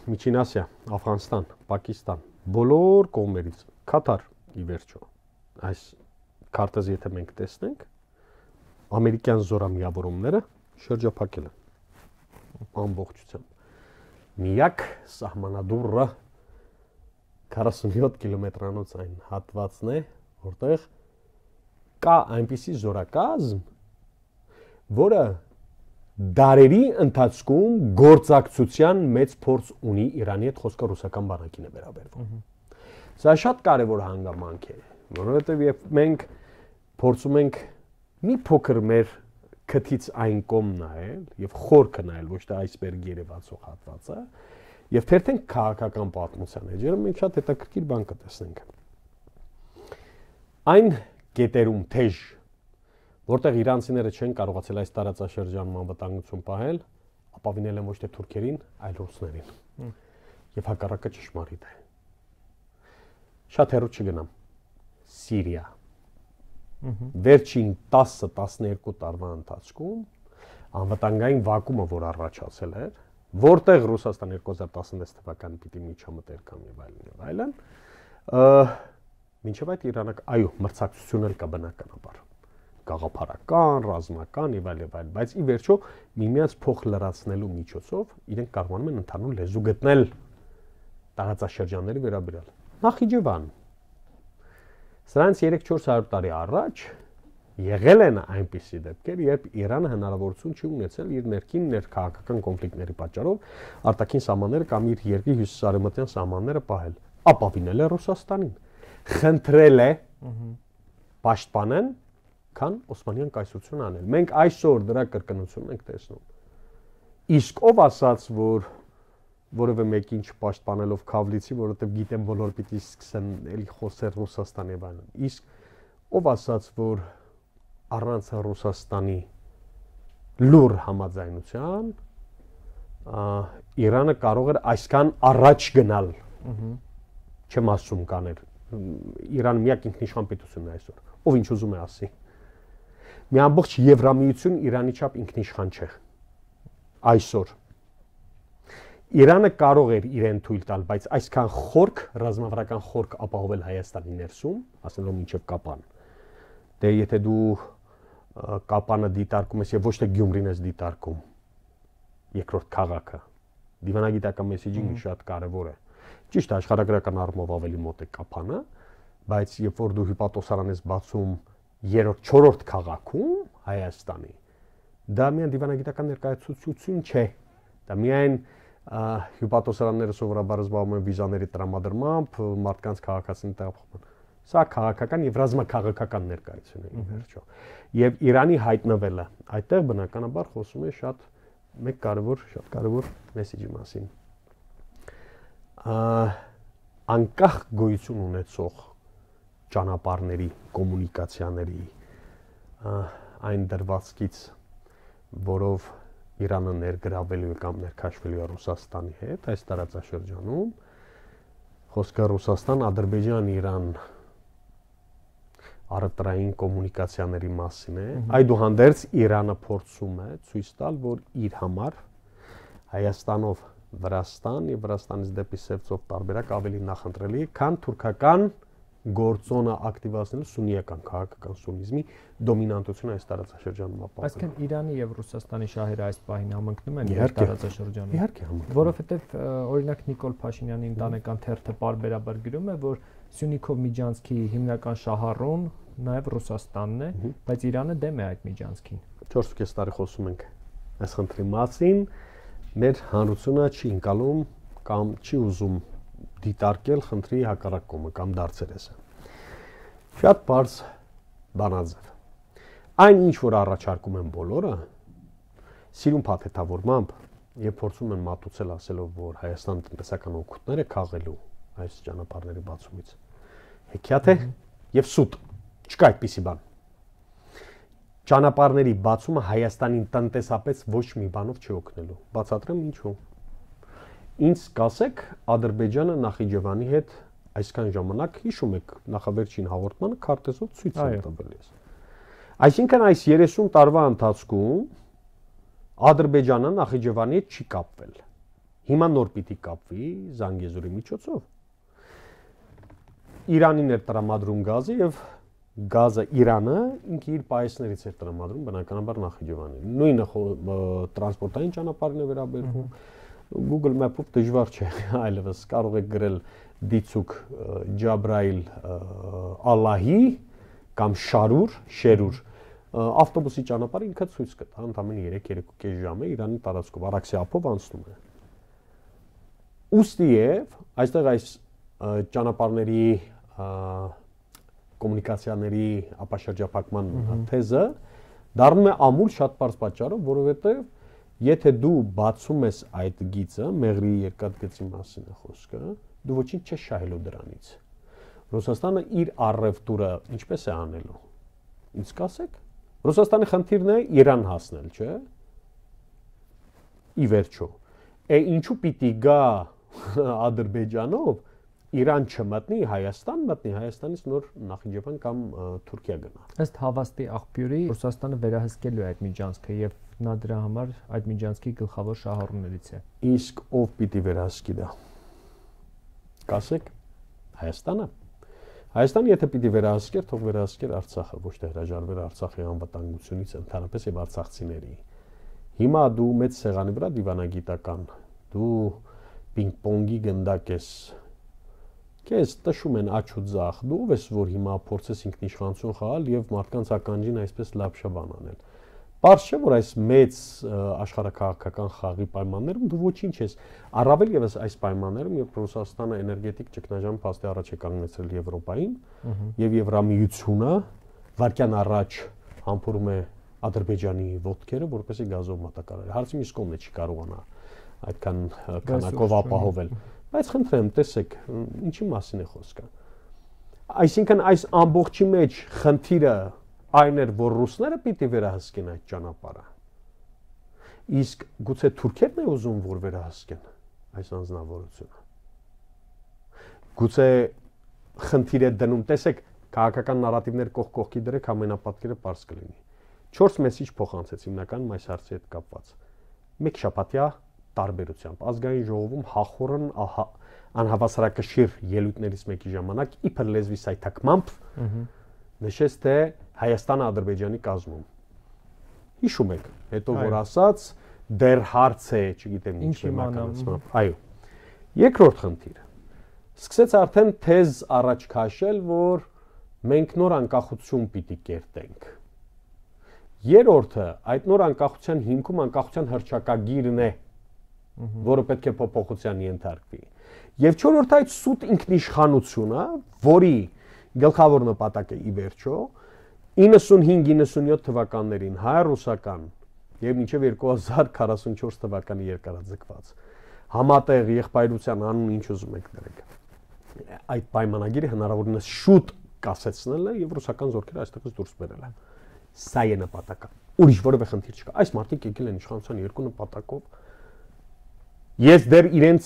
Միջին Ասիա, Աֆղանստան, Պակիստան, բոլոր կողմերից, Կատար ի վերջո, այս քարտեզը եթե մենք տեսնենք, ամերիկյան զորամիավորումները շրջափակել են ամբողջությամբ։ Միակ սահմանադուռը քառասունյոթ կիլոմետրանոց այն հատվածն է, որտեղ կա այնպիսի զորակազմ, որը դարերի ընթացքում գործակցության մեծ փորձ ունի Իրանի հետ, խոսքը ռուսական բանակին է վերաբերվում։ Սա շատ կարևոր հանգամանք է, որովհետև երբ մենք փորձում ենք մի փոքր մեր քթից այն կողմ նայել եւ խորքը նայել, ոչ թե այսբերգ երևացող հատվածը, եւ թերթենք քաղաքական պատմության էջերը, մենք շատ հետաքրքիր բան կտեսնենք։ Այն կետերում թեժ, որտեղ իրանցիները չեն կարողացել այս տարածաշրջանում անվտանգություն պահել, ապավինել են ոչ թե թուրքերին, այլ ռուսներին։ Եվ հակառակը ճշմարիտ է։ Շատ հեռու չգնամ։ Սիրիա։ Վերջին տասը տասներկու տարվա ընթացքում անվտանգային վակումը, որ առաջացել էր, որտեղ Ռուսաստան երկու հազար տասնվեց թվականին պիտի միջամտեր կամ եւ այլն եւ այլն, մինչև այդ Իրանը, այո, մրցակցություն էլ կա բնականաբար։ գաղափարական, ռազմական եւ այլ եւ այլ, բայց ի վերջո միմյանց փոխ լրացնելու միջոցով իրենք կարողանում են ընդհանուր լեզու գտնել տարածաշրջանների վերաբերյալ։ Նախիջևան սրանց երեք-չորս հարյուր տարի առաջ եղել են այնպիսի դեպքեր, երբ Իրանը հնարավորություն չի ունեցել իր ներքին ներքաղաքական կոնֆլիկտների պատճառով արտաքին սահմանները կամ իր երկրի հյուսիսարևմտյան սահմանները պահել, ապավինել է Ռուսաստանին, խնդրել է պաշտպանեն, քան Օսմանյան կայսրությունը անել։ Մենք այսօր դրա կրկնությունն ենք տեսնում։ Իսկ ով ասաց, որ որևէ մեկին չպաշտպանելով Քավլիցի, որովհետև գիտեմ բոլոր պիտի սկսեն էլի խոսել Ռուսաստանի եւ այլն։ Իսկ ով ասաց, որ առանց Ռուսաստանի լուր համաձայնության Իրանը կարող էր այսքան առաջ գնալ։ Չեմ ասում կաներ։ Իրանը միակ ինքնիշխան պետությունն է այսօր։ Ով ինչ ուզում է ասի։ Մի ամբողջ Եվրամիություն Իրանի չափ ինքնիշխան չէ։ Այսօր Իրանը կարող էր իրեն թույլ տալ, բայց այսքան խորք, ռազմավարական խորք ապահովել Հայաստանի ներսում, ասելով մինչև Կապան։ Դե եթե դու Կապանը դիտարկում ես եւ ոչ թե Գյումրին ես դիտարկում, երկրորդ քաղաքը, դիվանագիտական մեսեջինգը շատ կարեւոր է։ Ճիշտ է, աշխարհագրական առումով ավելի մոտ է Կապանը, բայց երբ որ դու հիպատոսարան ես բացում երրորդ, չորրորդ քաղաքում Հայաստանի, դա միայն դիվանագիտական ներկայացուցություն չէ։ Դա միայն հիպատոսարանները սովորաբար զբաղվում են վիզաների տրամադրմամբ, մարդկանց քաղաքացիների տեղափոխմամբ։ Սա քաղաքական եւ ռազմաքաղաքական ներկայություն է ի վերջո։ Եվ Իրանի հայտնվելը այդտեղ բնականաբար խոսում է շատ մեկ կարևոր, շատ կարևոր մեսեջի մասին։ Անկախ գոյություն ունեցող ճանապարհների, կոմունիկացիաների այն դրվածքից, որով Իրանը ներգրավելու է կամ ներքաշվելու է Ռուսաստանի հետ այս տարածաշրջանում, խոսքը Ռուսաստան, Ադրբեջան, Իրան առևտրային կոմունիկացիաների մասին է։ Այդուհանդերձ Իրանը փորձում է ցույց տալ, որ իր համար Հայաստանով Վրաստան եւ Վրաստանից դեպի Սևծով տարբերակ ավելի նախընտրելի է, քան թուրքական գործոնը ակտիվացնելու սուննիական քաղաքական սուննիզմի դոմինանտությունը այս տարածաշրջանում ապահովել։ Այսինքն Իրանի եւ Ռուսաստանի շահերը այս պահին համընկնում են այս տարածաշրջանում։ Իհարկե համընկնում։ Որովհետեւ օրինակ Նիկոլ Փաշինյանի ընտանեկան թերթը պարբերաբար գրում է, որ Սյունիքով Միջանցքի հիմնական շահառուն նաեւ Ռուսաստանն է, բայց Իրանը դեմ է այդ Միջանցքին։ չորս տարի խոսում ենք այս խնդրի մասին, մեր հանրությունը չի ընկալում կամ չի ուզում դիտարկել խնդրի հակառակ կողմը կամ դարձերեսը։ Շատ բարձ բանաձև։ Այն ինչ որ առաջարկում են բոլորը, սիրուն փաթեթավորմամբ եւ փորձում են մատուցել ասելով, որ Հայաստան տնտեսական օգուտներ է քաղելու այս ճանապարհների բացումից։ Հեքիաթ է եւ սուտ։ Չկա այդպիսի բան։ Ճանապարհների բացումը Հայաստանին տնտեսապես ոչ մի բանով չի օգնելու։ Բացատրեմ ինչու։ Ինձ կասեք Ադրբեջանը Նախիջևանի հետ այսքան ժամանակ հիշում եք նախավերջին հաղորդմանը քարտեզով ցույց եմ տվել ես։ Այսինքն այս երեսուն տարվա ընթացքում Ադրբեջանը Նախիջևանի հետ չի կապվել։ Հիմա նոր պիտի կապվի Զանգեզուրի միջոցով։ Իրանին էր տրամադրում գազը եւ գազը Իրանը ինքը իր պայեսներից էր տրամադրում բնականաբար Նախիջևանին։ Նույնը տրանսպորտային ճանապարհին է վերաբերվում։ Google Map-ով դժվար չէ, այլևս կարող եք գրել դիցուկ Ջաբրայիլ Ալլահի կամ Շարուր, Շերուր, ավտոբուսի ճանապարհը ինքը ցույց կտա, ընդամենը երեք-երեք ժամ է Իրանի տարածքով, Արաքսի ափով անցնում է։ Ուստիև այստեղ այս ճանապարհների կոմունիկացիաների ապաշրջափակման թեզը դառնում է ամուլ շատ բարձ պատճառով, որովհետև եթե դու բացում ես այդ գիծը, Մեղրի երկաթգծի մասին է խոսքը, դու ոչինչ չես շահելու դրանից։ Ռուսաստանը իր առևտուրը ինչպես է անելու։ Ինչ կասեք։ Ռուսաստանի խնդիրն է Իրան հասնել, չէ՞։ Ի վերջո։ Է ինչու պիտի գա Ադրբեջանով Իրան չմտնի, Հայաստան մտնի, Հայաստանից նոր Նախիջևան կամ Թուրքիա գնա։ Ըստ հավաստի աղբյուրի Ռուսաստանը վերահսկելու է այդ Միջանցքը եւ նա դրա համար այդ Միջանցքի գլխավոր շահառուներից է։ Իսկ ով պիտի վերահսկի դա։ Կասեք Հայաստանը։ Հայաստանը եթե պիտի վերահսկեր, թող վերահսկեր Արցախը, ոչ թե հրաժարվեր Արցախի անվտանգությունից ընդհանրապես եւ արցախցիների։ Հիմա դու մեծ սեղանի վրա դիվանագիտական, դու պինգ-պոնգի գնդակ ես, քեզ տշում են աչ ու ձախ, դու ով ես, որ հիմա փորձես ինքնիշխանություն խաղալ եւ մարդկանց ականջին այսպես լապշաբան անել։ Պարզ չէ, որ այս մեծ աշխարհաքաղաքական խաղի պայմաններում դու ոչինչ ես, առավել եւս այս պայմաններում, երբ Ռուսաստանը էներգետիկ ճգնաժամ փաստի առաջ է կանգնեցրել Եվրոպային, եւ Եվրամիությունը վարկյան առաջ համբուրում է Ադրբեջանի ոտքերը, որպեսզի գազով մատակարարի։ Հարցի մյուս կողմն է չի կարողանա այդքան քանակով ապահովել։ Բայց խնդրեմ, տեսեք, ինչի մասին է խոսքը։ Այսինքն այս ամբողջի մեջ խնդիրը այն էր, որ ռուսները պիտի վերահսկեն այդ ճանապարհը։ Իսկ գուցե թուրքերն է ուզում, որ վերահսկեն այս անձնավորությունը։ Գուցե խնդիր է դնում, տեսեք, քաղաքական նարատիվներ կողք կողքի դրեք, ամենապատկերը պարզ կլինի։ Չորս մեսիջ փոխանցեց հիմնականում այս հարցի հետ կապված։ Մեկ շաբաթյա տարբերությամբ ազգային ժողովում հախորն անհավասարակշիռ ելույթներից մեկի ժամանակ իբր լեզվի սայթակմամբ նշեց, թե Հայաստանը Ադրբեջանի կազմում։ Հիշում եք, հետո որ ասաց, դեռ հարց է, չգիտեմ ինչ իմականացմամբ։ Այո։ Երկրորդ խնդիրը։ Սկսեց արդեն թեզ առաջ քաշել, որ մենք նոր անկախություն պիտի կերտենք։ Երրորդը, այդ նոր անկախության հիմքում անկախության հռչակագիրն է, որը պետք է փոփոխության ենթարկվի։ Եվ չորրորդը այդ սուտ ինքնիշխանությունը, որի գլխավոր նպատակը ի վերջո իննսունհինգ իննսունյոթ թվականներին հայ-ռուսական եւ մինչեւ երկու հազար քառասունչորս թվականի երկարաձգված համատեղ եղբայրության անուն ինչ ուզում եք դրեք։ Այդ պայմանագիրը հնարավորինս շուտ կասեցնելն է եւ ռուսական զորքերը այստեղից դուրս բերելը։ Սա է նպատակը։ Ուրիշ որևէ խնդիր չկա։ Այս մարդիկ եկել են իշխանության երկու նպատակով։ Ես դեռ իրենց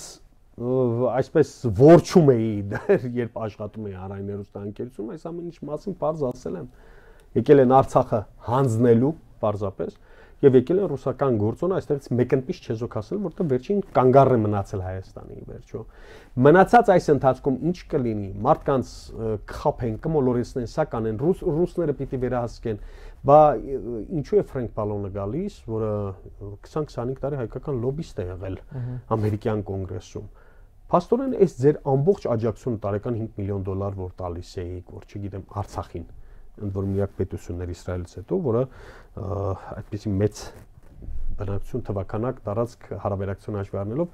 այսպես ворչում էի դեռ երբ աշխատում էի Հանրային հեռուստաընկերությունում, այս ամեն ինչ մասին բարձ ասել եմ։ Եկել են Արցախը հանձնելու պարզապես եւ եկել են ռուսական գործոնը այստեղից մեկընտիշ չեզոք ասել, որտեղ վերջին կանգառ է մնացել Հայաստանի վերջո։ Մնացած այս ընթացքում ինչ կլինի, մարդկանց կխափեն, կմոլորեցնեն, սա կանեն, ռուս ռուսները պիտի վերահսկեն, բա ինչու է Ֆրենկ Պալոնը գալիս, որը քսան-քսանհինգ տարի հայկական լոբիստ է եղել ամերիկյան կոնգրեսում։ Փաստորեն այս ձեր ամբողջ աջակցությունը տարեկան հինգ միլիոն դոլար որ տալիս էիք, որ չգիտեմ Արցախին, ընդ որում միակ պետություններ Իսրայելից հետո, որը այդպիսի մեծ բնակչություն թվականակ տարածք հարաբերակցություն հաշվի առնելով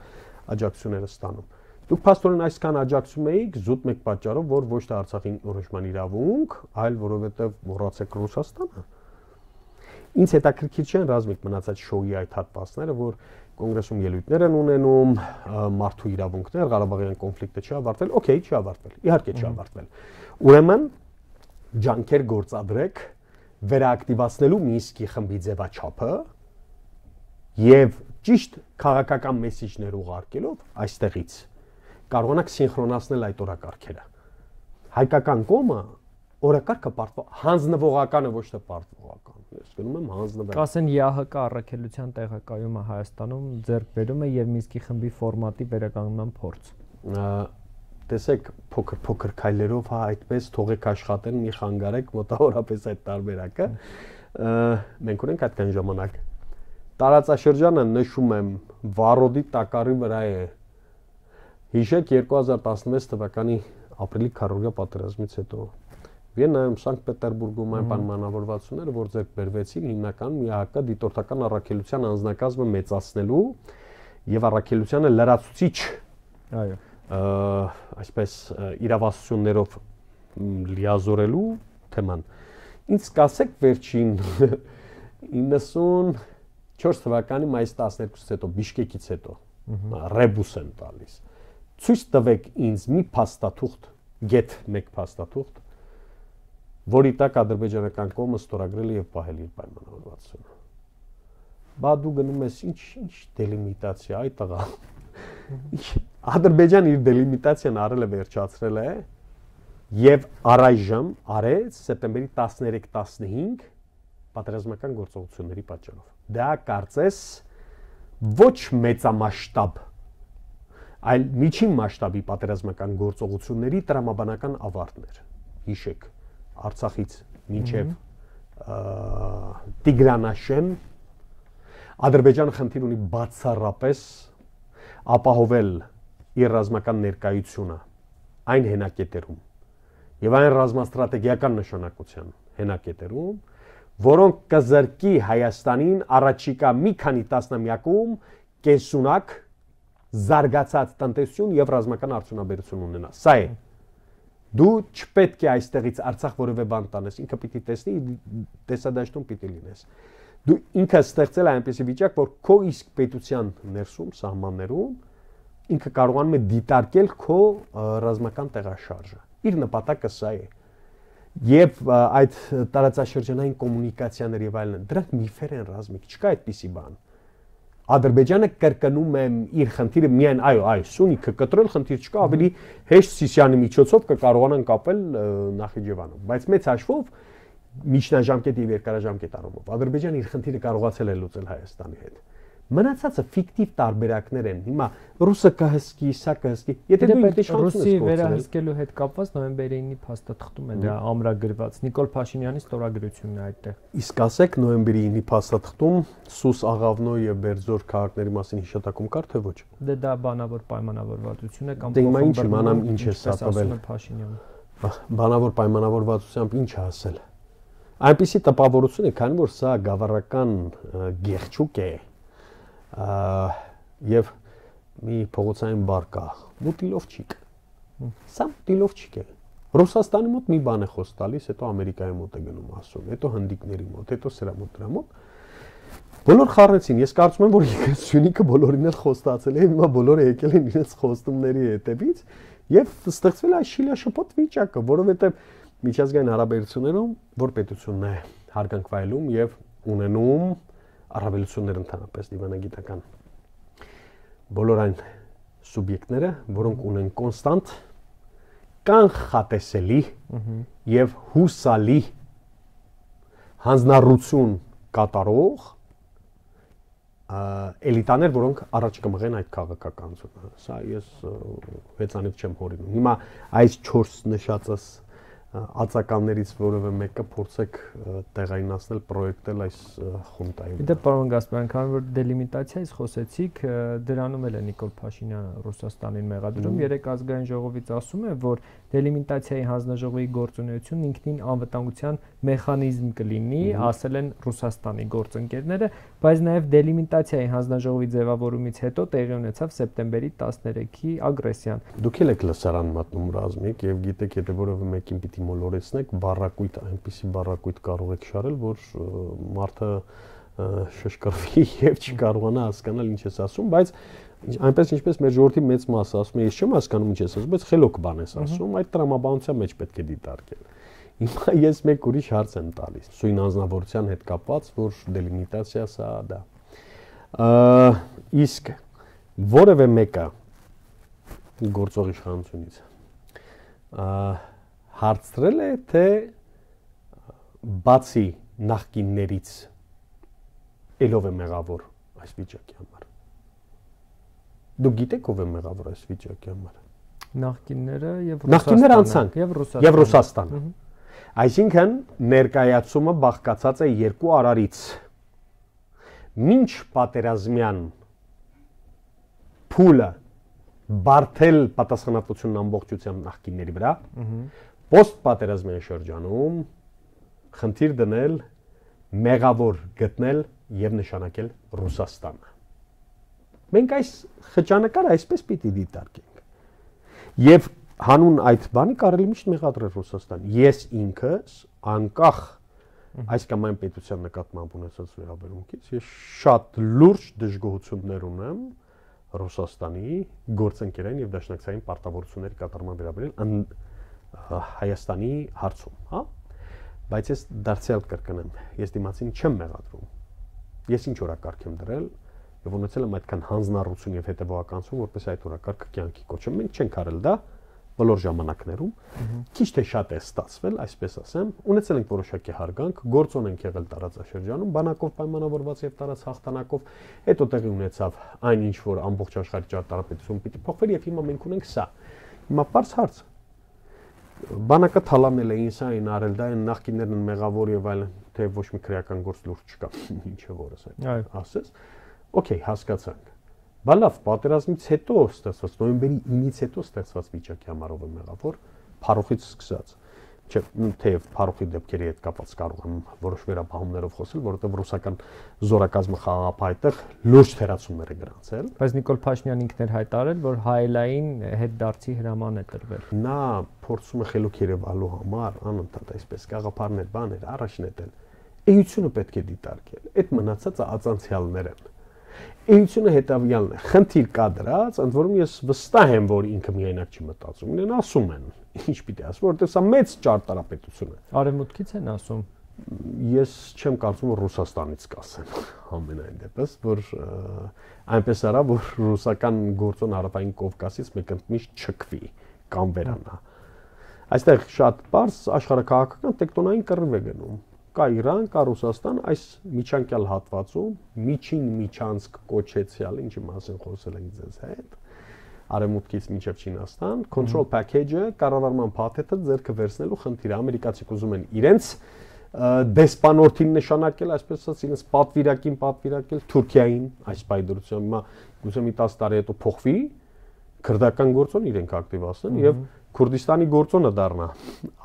աջակցությունները ստանում։ Դուք փաստորեն այսքան աջակցում էիք զուտ մեկ պատճառով, որ ոչ թե Արցախին որոշման իրավունք, այլ որովհետև մոռացեք Ռուսաստանը։ Ինձ հետաքրքիր չեն ռազմիկ մնացած շոուի այդ հատվածները, որ կոնգրեսում ելույթներ են ունենում, մարդու իրավունքներ, Ղարաբաղյան կոնֆլիկտը չի ավարտվել, օքեյ, չի ավարտվել, իհարկե չի ավարտվել։ Ուրեմն ջանքեր գործադրեք վերաակտիվացնելու Մինսկի խմբի ձևաչափը եւ ճիշտ քաղաքական մեսիջներ ուղարկելով այստեղից կարողանաք սինխրոնացնել այդ օրակարգերը։ Հայկական կողմը օրակարգը պարտվող հանձնվողականը ոչ թե պարտվողական։ Ես գնում եմ հանձնվել։ Կասեն ԵԱՀԿ առաքելության տեղակայումը Հայաստանում ձեռք բերում է եւ Մինսկի խմբի ֆորմատի վերականգնման փորձ։ Տեսեք, փոքր-փոքր քայլերով հա այդպես թողեք աշխատեն, մի խանգարեք մոտավորապես այդ տարբերակը։ Մենք ունենք այդքան ժամանակ։ Տարածաշրջանը նշում եմ Վարոդի տակառի վրա է։ Հիշեք երկու հազար տասնվեց թվականի ապրիլի քառորդ պատերազմից հետո Վիեննայում, Սանկտ Պետերբուրգում այն պայմանավորվածությունները, որ ձեռք բերվեցին հիմնականում ԵԱՀԿ դիտորդական առաքելության անձնակազմը մեծացնելու եւ առաքելությանը լրացուցիչ, այո, այսպես իրավասություններով լիազորելու թեման։ Ինձ կասեք վերջին իննսունչորս թվականի մայիսի տասներկուսից հետո, Բիշկեկից հետո, ռեբուս են տալիս։ Ցույց տվեք ինձ մի փաստաթուղթ, գեթ մեկ փաստաթուղթ, որի տակ ադրբեջանական կողմը ստորագրել է եւ պահել իր պայմանավորվածությունը։ Բա դու գնում ես ինչ ինչ դելիմիտացիա, այ տղա։ Ադրբեջանը իր դելիմիտացիան արել է, վերջացրել է եւ առայժմ արեց սեպտեմբերի տասներեք տասնհինգ պատերազմական գործողությունների պատճառով։ Դա կարծես ոչ մեծամասշտաբ, այլ միջին մասշտաբի պատերազմական գործողությունների տրամաբանական ավարտներ։ հիշեք, Արցախից մինչև Տիգրանաշեն Ադրբեջանը խնդիր ունի բացառապես ապահովել իր ռազմական ներկայությունը այն հենակետերում եւ այն ռազմաստրատեգիական նշանակության հենակետերում, որոնք կզրկի Հայաստանին առաջիկա մի քանի տասնամյակում կենսունակ զարգացած տնտեսություն եւ ռազմական արդյունաբերություն ունենա։ Սա է։ Դու չպետք է այստեղից Արցախ որևէ բան տանես, ինքը պիտի տեսնի, տեսադաշտում պիտի լինես։ Դու ինքը ստեղծել է այնպիսի վիճակ, որ քո իսկ պետության ներսում, սահմաններում ինքը կարողանում է դիտարկել քո ռազմական տեղաշարժը։ Իր նպատակը սա է։ Եվ այդ տարածաշրջանային կոմունիկացիաներ եւ այլն, դրանք միֆեր են ռազմիկ, չկա այդպիսի բան։ Ադրբեջանը կրկնում է իր խնդիրը միայն, այո, այո, Սյունիքը կտրել խնդիր չկա, ավելի հեշտ Սիսիանի միջոցով կկարողանան կապել Նախիջևանը, բայց մեծ հաշվով միջնաժամկետ եւ երկարաժամկետ առումով Ադրբեջանը իր խնդիրը կարողացել է լուծել Հայաստանի հետ։ Մնացածը ֆիկտիվ տարբերակներ են։ Հիմա ռուսը կհսկի, սա կհսկի։ Եթե դու իշխանություն ես կորցրել, վերահսկելու հետ կապված նոյեմբերի ինը փաստաթղթում է դա ամրագրված։ Նիկոլ Փաշինյանի ստորագրությունն է այդտեղ։ Իսկ ասեք նոյեմբերի ինը փաստաթղթում Սուս Աղավնո եւ Բերձոր քաղաքների մասին հիշատակում կար թե ոչ։ Դե դա բանավոր պայմանավորվածություն է կամ դե հիմա ինչ իմանամ ինչ է սա տվել Փաշինյանը։ Բանավոր պայմանավորվածությամբ ինչ է ասել։ Այնպիսի տպավորություն է, քանի որ սա գավառական գեղչուկ է։ Եվ մի փողոցային բար կա, մուտիլովչիկ։ Սա մուտիլովչիկ է։ Ռուսաստանի մոտ մի բան է խոս տալիս, հետո Ամերիկայի մոտ է գնում ասում, հետո հնդիկների մոտ, հետո սրա մոտ դրա մոտ։ Բոլոր խառնեցին, ես կարծում եմ, որ Սյունիքը բոլորին էլ խոստացել է, հիմա բոլորը եկել են իրենց խոստումների հետևից եւ ստեղծվել է այս շիլաշփոթ վիճակը, որովհետեւ միջազգային հարաբերություններում որ պետությունն է հարգանք վայելում եւ ունենում առավելություններ ընդհանրապես դիվանագիտական բոլոր այն սուբյեկտները, որոնք ունեն կոնստանտ կանխատեսելի եւ հուսալի հանձնառություն կատարող էլիտաներ, որոնք առաջ կմղեն այդ քաղաքականությունը։ Սա ես վեցանից չեմ հորինում։ Հիմա այս չորս նշածս ածականներից որևէ մեկը փորձեք տեղայնացնել, պրոյեկտել այս խունտային։ Դե պարոն Գասպարյան, քանի որ դելիմիտացիայից խոսեցիք, դրանում էլ է Նիկոլ Փաշինյանը Ռուսաստանին մեղադրում, երեք ազգային ժողովից ասում է, որ դելիմիտացիայի հանձնաժողովի գործունեությունն ինքնին անվտանգության մեխանիզմ կլինի, ասել են Ռուսաստանի գործընկերները, բայց նաև դելիմիտացիայի հանձնաժողովի ձևավորումից հետո տեղի ունեցավ սեպտեմբերի տասներեքի ագրեսիան։ Դուք եք լսարան մատնում ռազմիկ եւ գիտեք, եթե որևէ մեկին պիտի մոլորեցնեք, բառակույտ, այնպիսի բառակույտ կարող եք շարել, որ մարդը շշկրվի եւ չկարողանա հասկանալ ինչ ես ասում, բայց այնպես ինչպես մեր ժողովրդի մեծ մասը ասում է, ես չեմ հասկանում ինչ ես ասում, բայց խելոք բան ես ասում, այդ տրամաբանության մեջ պետք է դիտարկել։ Հիմա ես մեկ ուրիշ հարց եմ տալիս, սույն անձնավորության հետ կապված, որ դելիմիտացիա սա դա։ Իսկ որևէ մեկը գործող իշխանությունից հարցրել է, թե բացի նախկիններից ելով է մեղավոր այս վիճակի համար։ Դուք գիտեք ով է մեղավոր այս վիճակի համար։ Նախկինները եւ Նախկինները անցանք եւ Ռուսաստանը։ Եվ Ռուսաստանը։ Այսինքն ներկայացումը բաղկացած է երկու արարից։ Մինչ պատերազմյան փուլը բարթել պատասխանատվությունն ամբողջությամբ նախկինների վրա, post պատերազմյան շրջանում խնդիր դնել, մեղավոր գտնել եւ նշանակել Ռուսաստանը։ Մենք այս խճանկարը այսպես պիտի դիտարկենք։ Եվ հանուն այդ բանի կարելի միշտ մեղադրել Ռուսաստան։ Ես ինքս անկախ այս կամ այն պետության նկատմամբ ունեցած վերաբերմունքից ես շատ լուրջ դժգոհություններ ունեմ Ռուսաստանի գործընկերային եւ դաշնակցային պարտավորությունների կատարման վերաբերյալ Հայաստանի հարցում, հա? Բայց ես դարձյալ կրկնեմ, ես դիմացին չեմ մեղադրում։ Ես ինչ օրակարգ եմ դրել եւ ունեցել եմ այդքան հանձնառություն եւ հետեւողականություն, որպես այդ օրակարգը կյանքի կոչեմ։ Մենք չենք արել դա բոլոր ժամանակներում, քիչ թե շատ է ստացվել, այսպես ասեմ, ունեցել ենք որոշակի հարգանք, գործոն ենք եղել տարածաշրջանում, բանակով պայմանավորված եւ տարած հաղթանակով, հետո տեղի ունեցավ այն ինչ որ ամբողջ աշխարհի ճարտարապետություն պիտի փոխվեր եւ հիմա մենք ունենք սա։ Հիմա բարձ հարց։ բանակը թալանել էին, սա այն արել, դա այն նախկիններն են մեղավոր եւ այլն, թե ոչ մի քրեական գործ լուրջ չկա, ինչը որս այդ ասես։ Okay, հասկացանք։ Բա լավ, պատերազմից հետո ստեղծված, նոյեմբերի ինից հետո ստեղծված վիճակի համարով է մեղավոր, փառուխից սկսած։ Չէ, թեև փառուխի դեպքերի հետ կապված կարող եմ որոշ վերաբահումներով խոսել, որովհետև ռուսական զորակազմը խաղաղապահ լուրջ թերացումներ է գրանցել։ Բայց Նիկոլ Փաշինյանն ինքն էր հայտարարել, որ հայելային հետդարձի հրաման է տրվել։ Նա փորձում է խելոք երևալու համար անընդհատ այսպես գաղափարներ, բաներ առաջ նետել։ Էությունը պետք է դիտարկել։ Այդ մնացածը ածանցյալներ են։ Էությունը հետավյալն է։ Խնդիր կա դրած, ընդ որում ես վստահ եմ, որ ինքը միայնակ չի մտածում։ Իրեն ասում են, ինչ պիտի ասում, որովհետև սա մեծ ճարտարապետություն է։ Արևմուտքից են ասում։ Ես չեմ կարծում, որ Ռուսաստանից կասեն ամենայն դեպս, որ այնպես արա, որ ռուսական գործոն Հարավային Կովկասից մեկընդմիշտ չքվի կամ վերանա։ Այստեղ շատ բարձ աշխարհակաղակական տեկտոնային կռիվ է գնում։ Կա Իրան, կա Ռուսաստան, այս միջանկյալ հատվածում միջին միջանցք կոչեցյալ, ինչի մասին խոսել ենք ձեզ հետ, Արևմուտքից մինչև Չինաստան, control package-ը, կառավարման փաթեթը ձեռքը վերցնելու խնդիրը։ Ամերիկացիք ուզում են իրենց դեսպանորդին նշանակել, այսպես ասած, իրենց պատվիրակին պատվիրակել Թուրքիային, այս պայդրությամբ հիմա գուցե մի տասը տարի հետո փոխվի, քրդական գործոն իրենք ակտիվացնեն եւ Քուրդիստանի գործոնը դառնա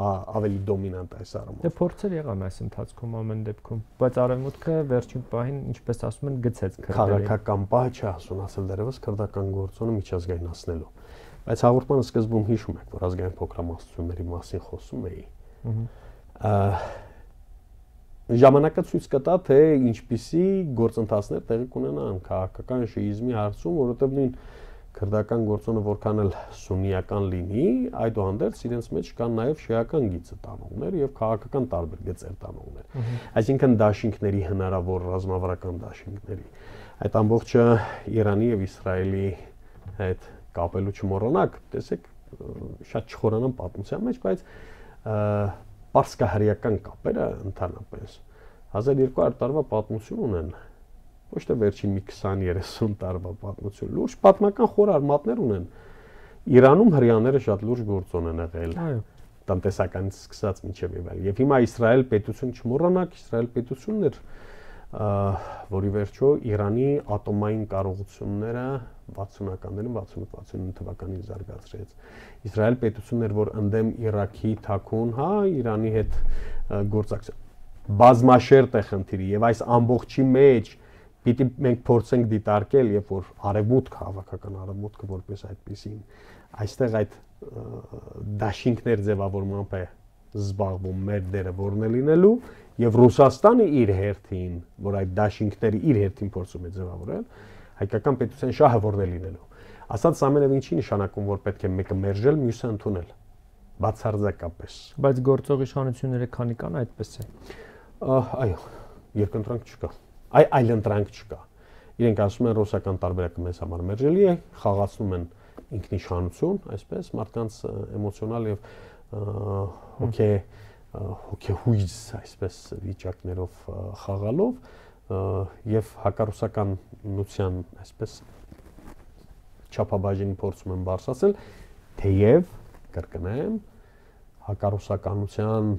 ավելի դոմինանտ այս առումով։ Դե փորձեր եղան այս ընթացքում ամեն դեպքում, բայց Արևմուտքը վերջին պահին, ինչպես ասում են, գցեց քրդերին։ Քաղաքական պահ չի ասունացել դերևս քրդական գործոնը միջազգայնացնելու։ Բայց հաղորդման սկզբում հիշում եք, որ ազգային փոքրամասնությունների մասին խոսում էի։ Ժամանակը ցույց կտա, թե ինչպիսի գործընթացներ տեղի կունենան քաղաքական շիիզմի հարցում, որովհետև նույն քրդական գործոնը որքան էլ սուննիական լինի, այդուհանդերձ իրենց մեջ կան նաև շիական գիծը տանողներ եւ քաղաքական տարբեր գծեր տանողներ։ Այսինքն դաշինքների հնարավոր ռազմավարական դաշինքների։ Այդ ամբողջը Իրանի եւ Իսրայելի հետ կապելու չմոռանաք, տեսեք, շատ չխորանան պատմության մեջ, բայց պարսկահայական կապերը ընդհանրապես հազար երկու հարյուր տարվա պատմություն ունեն։ Ոչ թե վերջին մի քսան երեսուն տարվա պատմություն, լուրջ պատմական խոր արմատներ ունեն։ Իրանում հрьяաները շատ լուրջ գործոն են եղել։ Այո։ Տնտեսականից սկսած մինչև եւ այլն։ Եվ հիմա Իսրայել պետություն չմոռանաք, Իսրայել պետությունն էր, որի վերջո Իրանի ատոմային կարողությունները վաթսունականներին վաթսունութ վաթսունինը թվականին զարգացրեց։ Իսրայել պետությունն էր, որ ընդդեմ Իրաքի թաքուն, հա, Իրանի հետ գործակցություն բազմաշերտ է խնդիրի եւ այս ամբողջի մեջ պիտի մենք փորձենք դիտարկել, երբ որ արևմուտք հավաքական արևմուտքը որպես այդպեսին այստեղ այդ դաշինքներ ձևավորմամբ է զբաղվում մեր դերը որն է լինելու եւ Ռուսաստանը իր հերթին, որ այդ դաշինքները իր հերթին փորձում է ձևավորել, հայկական պետության շահը որն է լինելու։ Ասած ամենը ինչի նշանակում, որ պետք է մեկը մերժել, մյուսը ընդունել։ Բացարձակապես։ Բայց գործող իշխանությունները քանի կան այդպես է։ Այո, երկընտրանք չկա։ Այ այլընտրանք չկա։ Իրենք ասում են ռուսական տարբերակը մեզ համար մերժելի է, խաղացնում են ինքնիշխանություն, այսպես մարդկանց էմոցիոնալ եւ հոգե հոգեհույզ այսպես վիճակներով խաղալով եւ հակառուսականության այսպես չափաբաժին փորձում են բարձրացնել, թեև կրկնեմ հակառուսականության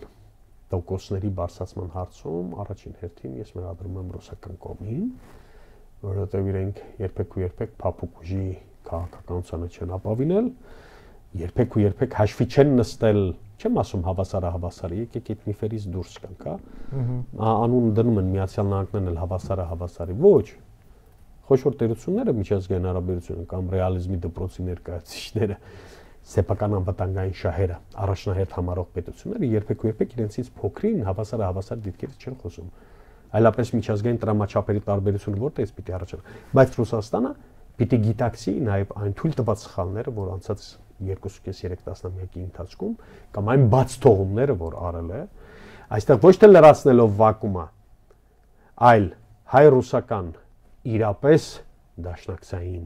տոկոսների բարձրացման հարցում առաջին հերթին ես մեղադրում եմ ռուսական կողմին, որովհետև իրենք երբեք ու երբեք փափուկ ուժի քաղաքականությանը չեն ապավինել, երբեք ու երբեք հաշվի չեն նստել, չեմ ասում հավասարը հավասարը, եկեք այդ միֆերից դուրս գանք, հա։ Անուն դնում են Միացյալ Նահանգներն էլ հավասարը հավասարի, ոչ։ Խոշոր տերությունները միջազգային հարաբերությունը կամ ռեալիզմի դպրոցի ներկայացուցիչները սեփական անվտանգային շահերը առաջնահերթ համարող պետությունները երբեք ու երբեք իրենցից փոքրին հավասար հավասար դիտքերից չեն խոսում։ Այլապես միջազգային տրամաչափերի տարբերությունը որտեղից պիտի առաջանա։ Բայց Ռուսաստանը պիտի գիտակցի նաև այն թույլ տված սխալները, որ անցած երկուսուկես երեք տասնամյակի ընթացքում կամ այն բաց թողումները, որ արել է, այստեղ ոչ թե լրացնելով վակումը, այլ հայ-ռուսական իրապես դաշնակցային,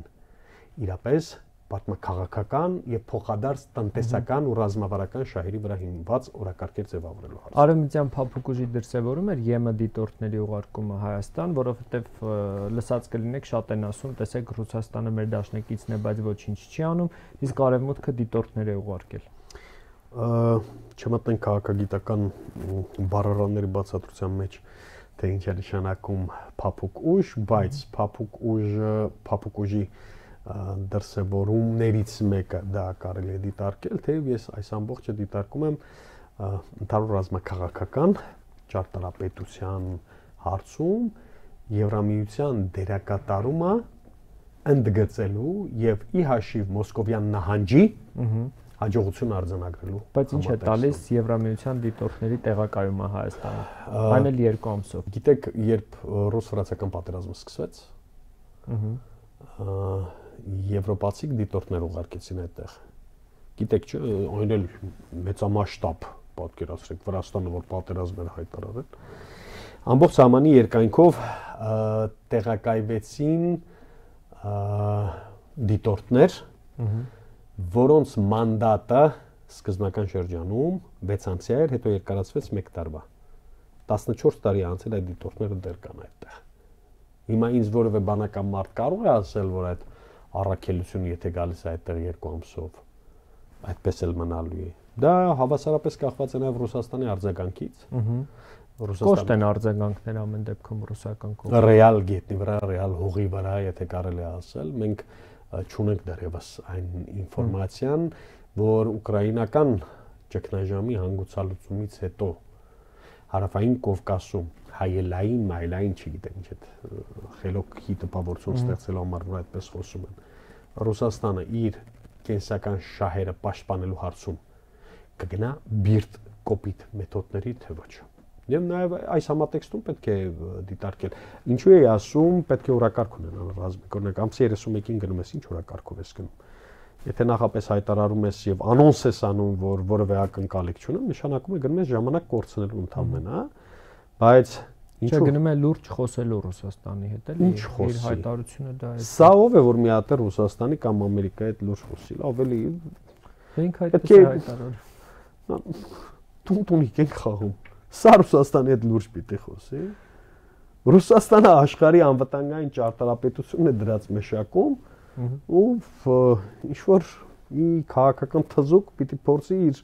իրապես պատմաքաղաքական եւ փոխադարձ տնտեսական ու ռազմավարական շահերի վրա հիմնված օրակարգեր ձևավորելու հարցը։ Արևմտյան փափուկ ուժի դրսևորում էր ԵՄ դիտորդների ուղարկումը Հայաստան, որովհետեւ լսած կլինեք շատ են ասում, տեսեք Ռուսաստանը մեր դաշնակիցն է, բայց ոչինչ չի անում, իսկ Արևմուտքը դիտորդներ է ուղարկել։ չմտնենք քաղաքագիտական բառարանների բացատրության մեջ, թե ինչ է նշանակում փափուկ ուժ, բայց փափուկ ուժը, փափուկ ուժի դրսևորումներից մեկը դա կարելի է դիտարկել, թեև ես այս ամբողջը դիտարկում եմ ընդհանուր ռազմաքաղաքական ճարտարապետության հարցում Եվրամիության դերակատարումը ընդգծելու եւ ի հաշիվ մոսկովյան նահանջի հաջողություն արձանագրելու։ Բայց ինչ է տալիս Եվրամիության դիտորդների տեղակայումը Հայաստանում։ Այն էլ երկու ամսով։ Գիտեք, երբ ռուս-ֆրանսիական պատերազմը սկսվեց, եվրոպացի դիտորդներ ուղարկեցին այդտեղ։ Գիտեք, չէ, այն էլ մեծամասշտաբ պատկերացրեք Վրաստանը, որ պատերազմ էր հայտարարել։ Ամբողջ ժամանի երկայնքով տեղակայվեցին դիտորդներ, որոնց մանդատը սկզբնական շրջանում վեց ամսյա էր, հետո երկարացվեց մեկ տարվա։ տասնչորս տարի անցել այդ դիտորդները դեռ կան այդտեղ։ Հիմա ինձ որևէ բանական մարդ կարող է ասել, որ այդ առաքելությունը եթե գալիս է այդտեղ երկու ամսով, այդպես էլ մնալու է։ Դա հավասարապես կախված է նաև Ռուսաստանի արձագանքից։ Կոշտ են արձագանքներ ամեն դեպքում ռուսական կողմից։ Ռեալ գետնի վրա, ռեալ հողի վրա, եթե կարելի է ասել, մենք չունենք դեռևս այն ինֆորմացիան, որ ուկրաինական ճգնաժամի հանգուցալուծումից հետո հարավային Կովկասում հայելային, մայլային, չգիտեմ ինչ այդ խելոքի տպավորություն ստեղծելու համար, որ այդպես խոսում են, Ռուսաստանը իր կենսական շահերը պաշտպանելու հարցում կգնա բիրտ կոպիտ մեթոդների, թե ոչ։ Եվ նաև այս համատեքստում պետք է դիտարկել։ Ինչու է ասում, պետք է օրակարգ ունենալ ռազմիկ, օրինակ ամսի երեսունմեկին գնում ես, ինչ օրակարգով ես գնում։ Եթե նախապես հայտարարում ես եւ անոնս ես անում, որ որևէ ակնկալիք չունեմ, նշանակում է գնում ես ժամանակ կորցնելու ընդհանրապես, հա։ Բայց ինչու գնում է լուրջ խոսելու Ռուսաստանի հետ, էլի իր հայտարարությունը դա է։ Սա ով է, որ մի հատ Ռուսաստանի կամ Ամերիկայի հետ լուրջ խոսի, ավելի մենք այդպես է հայտարարում։ Տուն-տունիկ ենք խաղում։ Սա Ռուսաստանի հետ լուրջ պիտի խոսի։ Ռուսաստանը աշխարհի անվտանգային ճարտարապետությունն է դրած մեշակում, ու ինչ որ մի քաղաքական թզուկ պիտի փորձի իր,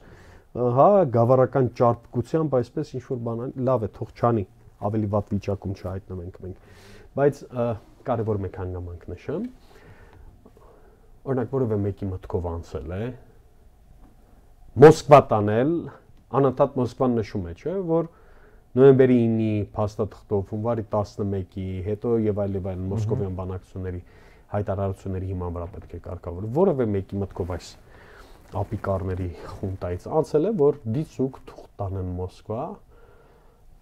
հա, գավառական ճարպկությամբ այսպես ինչ որ բան, լավ է, թող չանի, ավելի վատ վիճակում չհայտնվենք մենք։ Բայց կարևոր մեկ հանգամանք նշեմ, օրինակ որևէ մեկի մտքով անցել է Մոսկվա տանել, անընդհատ Մոսկվան նշում է, չէ, որ նոյեմբերի ինի փաստաթղթով, հունվարի տասնմեկի, հետո եւ այլ եւ այլ մոսկովյան բանակցությունների հայտարարությունների հիման վրա պետք է կարգավորել։ Որևէ մեկի մտքով այս ապիկարների խունտայից անցել է, որ դիցուկ թուղթ տանեն Մոսկվա,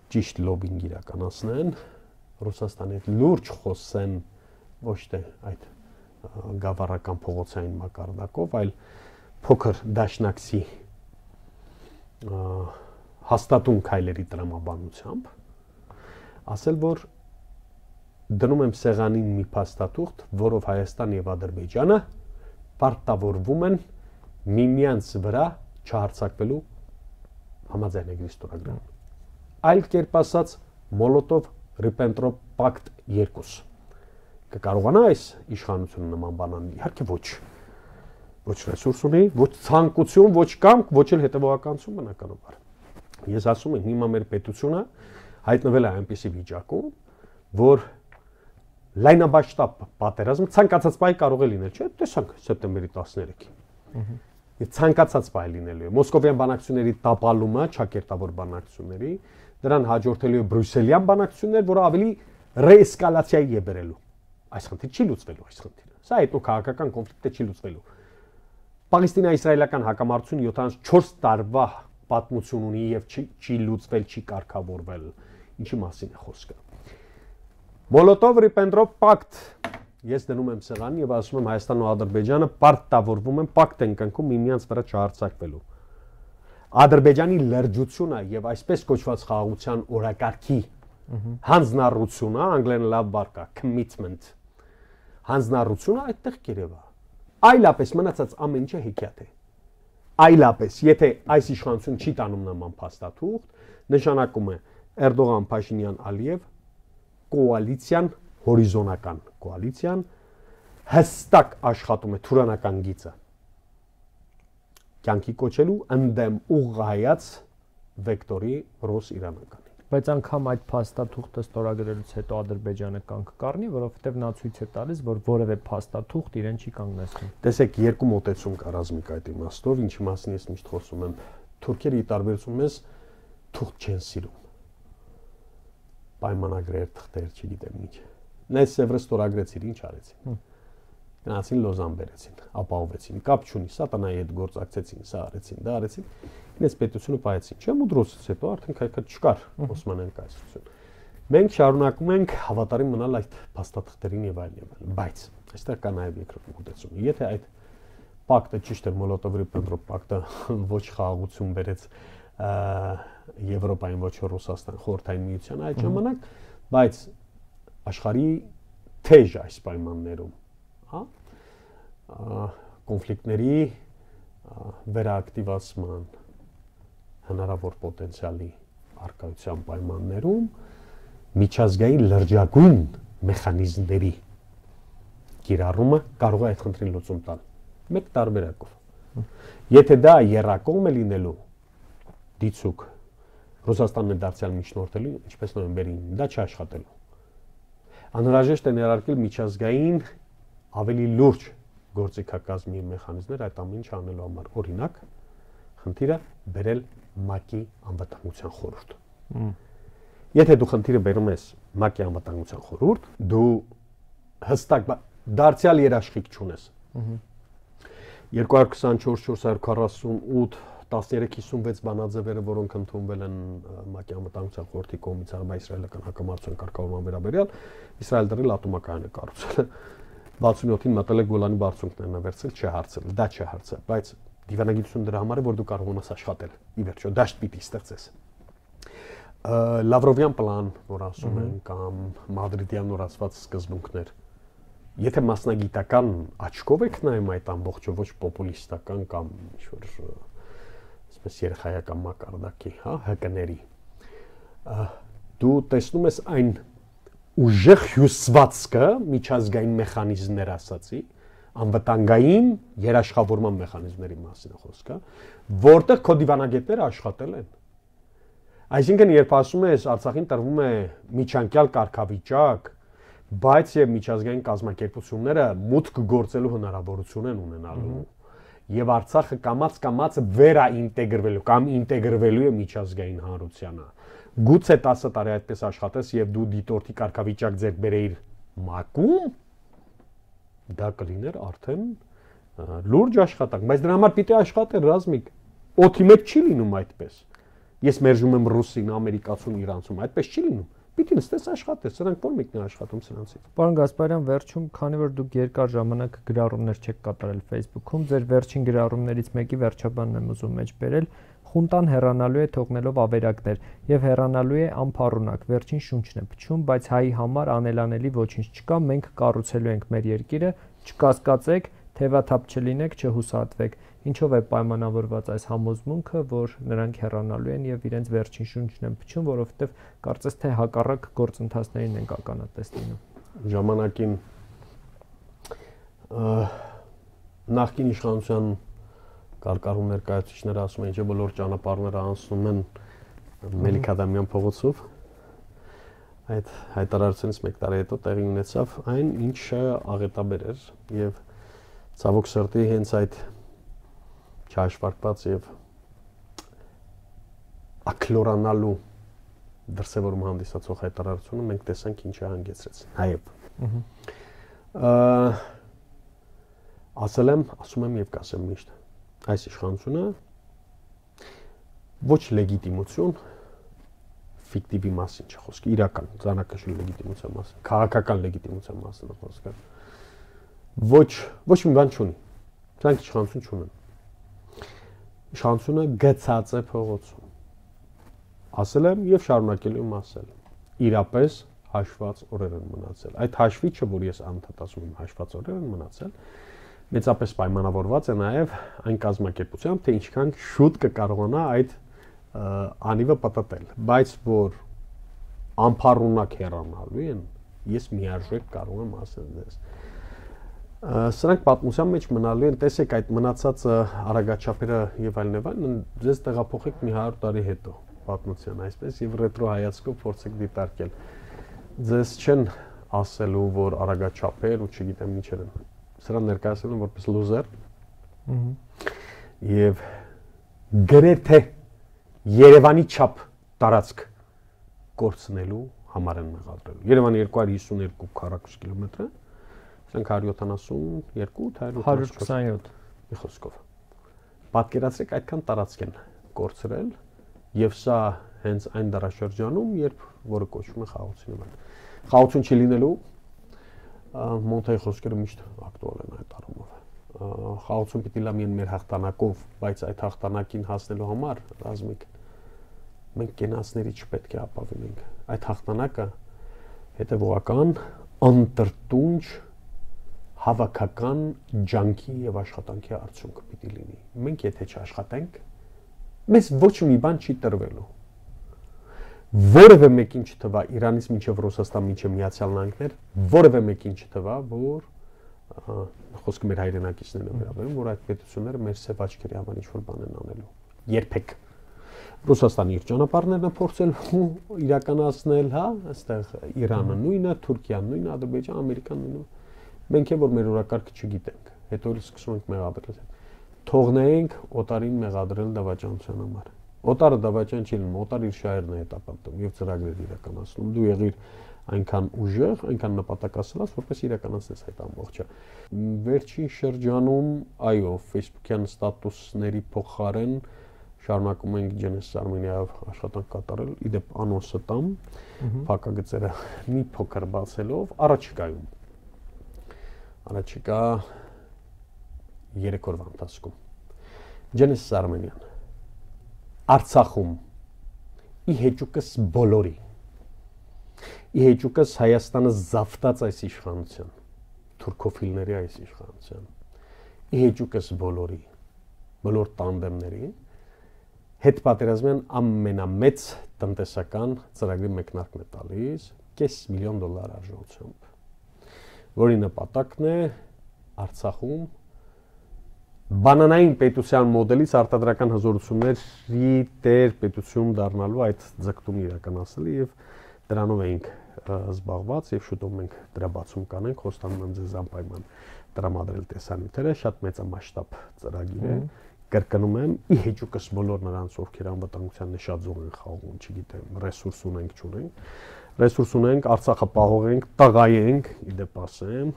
ճիշտ լոբինգ իրականացնեն, Ռուսաստանի հետ լուրջ խոսեն ոչ թե այդ գավառական փողոցային մակարդակով, այլ փոքր դաշնակցի հաստատուն քայլերի տրամաբանությամբ, ասել, որ դնում եմ սեղանին մի փաստաթուղթ, որով Հայաստան եւ Ադրբեջանը պարտավորվում են միմյանց վրա չհարձակվելու համաձայնագրի ստորագրման։ Այլ կերպ ասած, Մոլոտով-Ռիբենտրոպ պակտ երկուս։ Կկարողանա այս իշխանությունը նման բան անել, իհարկե ոչ։ Ոչ ռեսուրս ունի, ոչ ցանկություն, ոչ կամք, ոչ էլ հետևողականություն բնականաբար։ Ես ասում եմ, հիմա մեր պետությունը հայտնվել է այնպիսի վիճակում, որ լայնաբաշտապ պատերազմը ցանկացած պահի կարող է լինել, չէ՞, տեսանք սեպտեմբերի տասներեքին։ Եվ ցանկացած պահի լինելու է մոսկովյան բանակցությունների տապալումը, ճակերտավոր բանակցությունների, դրան հաջորդելու է բրյուսելյան բանակցություններ, որը ավելի ռեէսկալացիայի է բերելու։ Այս խնդիրը չի լուծվելու, այս խնդիրը։ Սա հետո քաղաքական կոնֆլիկտը չի լուծվելու։ Պաղեստինա-իսրայելական հակամարտությունը յոթանասունչորս տարվա պատմություն ունի եւ չի, չի լուծվել, չի կարգավորվել։ Ինչի մասին է խոսքը։ Մոլոտով-Ռիբենտրոպ պակտ ես դնում եմ սեղանին եւ ասում եմ Հայաստանն ու Ադրբեջանը պարտավորվում են պակտ են կնքում միմյանց վրա չհարձակվելու։ Ադրբեջանի լրջությունը եւ այսպես կոչված խաղաղության օրակարգի հանձնառությունը, անգլերեն լավ բառ կա, commitment, հանձնառությունը այդտեղ կերևա։ Այլապես մնացած ամեն ինչը հեքիաթ է։ Այլապես, եթե այս իշխանությունը չի տանում նման փաստաթուղթ, նշանակում է Էրդողան, Փաշինյան, Ալիև կոալիցիան, հորիզոնական կոալիցիան հստակ աշխատում է թուրանական գիծը կյանքի կոչելու ընդդեմ ուղղայած վեկտորի ռուս իրանական։ Բայց անգամ այդ փաստաթուղթը ստորագրելուց հետո Ադրբեջանը կանգ կառնի, որովհետև նա ցույց է տալիս, որ որևէ փաստաթուղթ իրեն չի կանգնեցնում։ Տեսեք, երկու մոտեցում կա ռազմիկ այդ իմաստով, ինչի մասին ես միշտ խոսում եմ։ Թուրքերը ի տարբերություն մեզ թուղթ չեն սիրում։ Պայմանագրեր, թղթեր, չգիտեմ ինչ։ Նայ Սևրը ստորագրեցին, ինչ արեցին։ Գնացին Լոզան բերեցին, ապահովեցին, կապ չունի, սատանայի հետ գործակցեցին, սա արեցին, դա արեցին։ Ինձ պետությունը պայեցին։ Չէ՞ Մուդրոսից հետո արդեն քայքա չկար Օսմանյան կայսրություն։ Մենք շարունակում ենք հավատարիմ մնալ այդ փաստաթղթերին եւ այլն եւ այլն, բայց այստեղ կա նաեւ երկրորդ մոտեցում։ Եթե այդ պակտը ճիշտ է, Մոլոտով-Ռիբենտրոպ պակտը ոչ խաղաղություն բերեց Եվրոպային, ոչ Ռուսաստան, Խորհրդային Միության այդ ժամանակ, բայց աշխարհի թեժ այս պայմաններում, հա, կոնֆլիկտների վերաակտիվացման հնարավոր պոտենցիալի արկայության պայմաններում միջազգային լրջագույն մեխանիզմների կիրառումը կարող է այդ խնդրին լուծում տալ մեկ տարբերակով։ Եթե դա եռակողմ է լինելու դիցուկ Ռուսաստանն է դարձյալ միջնորդելու, ինչպես նոյեմբերին, դա չաշխատելու։ Անհրաժեշտ է ներարկել միջազգային ավելի լուրջ գործիքակազմի մեխանիզմներ այդ ամեն ինչ անելու համար։ Օրինակ, խնդիրը բերել ՄԱԿ-ի անվտանգության խորհուրդ։ Եթե դու խնդիրը բերում ես ՄԱԿ-ի անվտանգության խորհուրդ, դու հստակ դարձյալ երաշխիք չունես։ երկու հազար քսանչորս չորս հարյուր քառասունութ տասներեք հիսունվեց բանաձևերը, որոնք ընդունվել են ՄԱԿ-ի անվտանգության խորհրդի կողմից արաբա-իսրայելական հակամարտության կարգավորման վերաբերյալ, Իսրայել դրել ատոմակայան է կառուցել։ վաթսունյոթին մտել է Գոլանի բարձունքներն է վերցրել, չէ հարցել, դա չէ հարցը, բայց դիվանագիտություն դրա համար է, որ դու կարող ունես աշխատել։ Ի վերջո դաշտ պիտի ստեղծես։ Լավրովյան պլան, որ ասում են, կամ մադրիդյան նորացված սկզբունքներ։ Եթե մասնագիտական աչքով եք նայում այդ ամբողջը, ոչ պոպուլիստական կամ ինչ-որ այսպես երեխայական մակարդակի, հա, հկների, դու տեսնում ես այն ուժեղ հյուսվածքը միջազգային մեխանիզմներ ասացի, անվտանգային երաշխավորման մեխանիզմների մասին է խոսքը, որտեղ քո դիվանագետները աշխատել են։ Այսինքն, երբ ասում ես Արցախին տրվում է միջանկյալ կարգավիճակ, բայց եւ միջազգային կազմակերպությունները մուտք գործելու հնարավորություն են ունենալու, եւ Արցախը կամաց-կամաց վերաինտեգրվելու կամ ինտեգրվելու է միջազգային հանրությանը։ Գուցե տասը տարի այդպես աշխատես եւ դու դիտորդի կարգավիճակ ձեռք բերեիր ՄԱԿ-ում, դա կլիներ արդեն լուրջ աշխատանք, բայց դրա համար պիտի աշխատել ռազմիկ։ Օդի մեջ չի լինում այդպես։ Ես մերժում եմ ռուսին, ամերիկացուն, իրանցուն, այդպես չի լինում։ Պիտի նստես աշխատես, սրանք ո՞ր մեկն է աշխատում սրանցից։ Պարոն Գասպարյան, վերջում, քանի որ դուք երկար ժամանակ գրառումներ չեք կատարել Facebook-ում, ձեր վերջին գրառումներից մեկի վերջաբանն եմ ուզում մեջ բերել, խունտան հեռանալու է թողնելով ավերակներ եւ հեռանալու է անփառունակ, վերջին շունչն է փչում, բայց հայի համար անելանելի ոչինչ չկա, մենք կառուցելու ենք մեր երկիրը, չկասկածեք, թևաթափ չլինեք, չհուսահատվեք։ Ինչով է պայմանավորված այս համոզմունքը, որ նրանք հեռանալու են եւ իրենց վերջին շունչն են փչում, որովհետեւ կարծես թե հակառակ գործընթացներին են ականատես լինում։ Ժամանակին նախկին իշխանության կարկառուն ներկայացուցիչները ասում են, че բոլոր ճանապարհները անցնում են Մելիք-Ադամյան փողոցով։ Այդ հայտարարությունից մեկ տարի հետո տեղի ունեցավ այն, ինչը աղետաբեր էր եւ ցավոք սրտի հենց այդ չհաշվարկված եւ ակլորանալու դրսևորում հանդիսացող հայտարարությունը մենք տեսանք ինչ է հանգեցրեց նաեւ։ Ասել եմ, ասում եմ եւ կասեմ միշտ, այս իշխանությունը ոչ լեգիտիմություն ֆիկտիվի մասին չի խոսքը, իրական, ցանկացած լեգիտիմության մասին, քաղաքական լեգիտիմության մասին է խոսքը։ Ոչ, ոչ մի բան չունի։ Դրանք իշխանություն չունեն։ Իշխանությունը գցած է փողոցում։ Ասել եմ եւ շարունակելու եմ ասել։ Իրապես հաշված օրեր են մնացել։ Այդ հաշվիչը, որ ես անդադար ասում եմ, հաշված օրեր են մնացել, մեծապես պայմանավորված է նաեւ այն կազմակերպությամբ, թե ինչքան շուտ կկարողանա այդ անիվը պատտել, բայց որ անփառունակ հեռանալու են, ես միարժեք կարող եմ ասել դες։ Սրանք պատմության մեջ մնալու են, տեսեք այդ մնացած արագաչափերը եւ այլն եւ այլն, ձեզ տեղափոխեք մի հարյուր տարի հետո պատմության այսպես եւ ռետրո հայացքով փորձեք դիտարկել։ Ձեզ չեն ասելու, որ արագաչափեր ու չգիտեմ ինչեր են։ Սրանք ներկայացնում են որպես լուզեր։ Եվ գրեթե Երևանի չափ տարածք կորցնելու համար են մեղադրել։ Երևանը երկու հարյուր հիսունյոթ քառակուսի կիլոմետր է։ Սրանք հարյուր յոթանասունյոթ, հարյուր քսանյոթ մի խոսքով։ Պատկերացրեք այդքան տարածք են կորցրել եւ սա հենց այն դարաշրջանում, երբ որը կոչվում է խաղաղություն։ Խաղաղություն չի լինելու, Մոնտեի խոսքերը միշտ ակտուալ են այդ առումով։ Խաղաղություն պիտի լա միայն մեր հաղթանակով, բայց այդ հաղթանակին հասնելու համար ռազմիկ մենք կենացների չպետք է ապավինենք։ Այդ հաղթանակը հետևողական անտրտունջ հավաքական ջանքի եւ աշխատանքի արդյունք պիտի լինի։ Մենք եթե չաշխատենք, մեզ ոչ մի բան չի տրվելու։ Որևէ մեկին չթվա Իրանից մինչև Ռուսաստան, մինչև Միացյալ Նահանգներ, որևէ մեկին չթվա, որ խոսքը մեր հայրենակիցներն են վերաբերում, որ այդ պետությունները մեր սև աչքերի համար ինչ-որ բան են անելու։ Երբեք։ Ռուսաստանը իր ճանապարհներն է փորձել իրականացնել, հա, այստեղ Իրանը նույնը, Թուրքիան նույնը, Ադրբեջանը, Ամերիկան նույնը։ Մենք է որ մեր օրակարգը չգիտենք, հետո էլ սկսում ենք մեղադրել։ Թողնենք օտարին մեղադրել դավաճանության համար։ Օտարը դավաճան չի լինում, օտարը իր շահերն է հետապնդում եւ ծրագրեր իրականացնում։ Դու եղիր այնքան ուժեղ, այնքան նպատակասլաց, որպես իրականացնես այդ ամբողջը։ Վերջին շրջանում, այո, Facebook-յան ստատուսների փոխարեն շարունակում ենք Genesis Armenia-ով աշխատանք կատարել, իդեպ անոնսը տամ, փակագծերը մի փոքր բացելով, առաջիկայում Առաջիկա երեք օրվա ընթացքում Genesis Armenia-ն Արցախում ի հեճուկս բոլորի ի հեճուկս Հայաստանը զավթած այս իշխանության թուրքոֆիլների այս իշխանության ի հեճուկս բոլորի բոլոր տանդեմների հետ պատերազմյան ամենամեծ տնտեսական ծրագրի մեկնարկն է տալիս կես միլիոն դոլար արժողությամբ որի նպատակն է Արցախում բանանային պետության մոդելից արտադրական հզորությունների տեր պետություն դառնալու այդ ձգտումն իրականացնել եւ դրանով էինք զբաղված եւ շուտով մենք դրա բացում կանենք խոստանում եմ ձեզ անպայման տրամադրել տեսանյութերը շատ մեծամասշտաբ ծրագիր է կրկնում եմ ի հեճուկս բոլոր նրանց ովքեր անվտանգության նշաձող են խաղում չգիտեմ ռեսուրս ունենք չունենք ռեսուրս ունենք, Արցախը պահողենք, տղայենք, իդեպ ասեմ,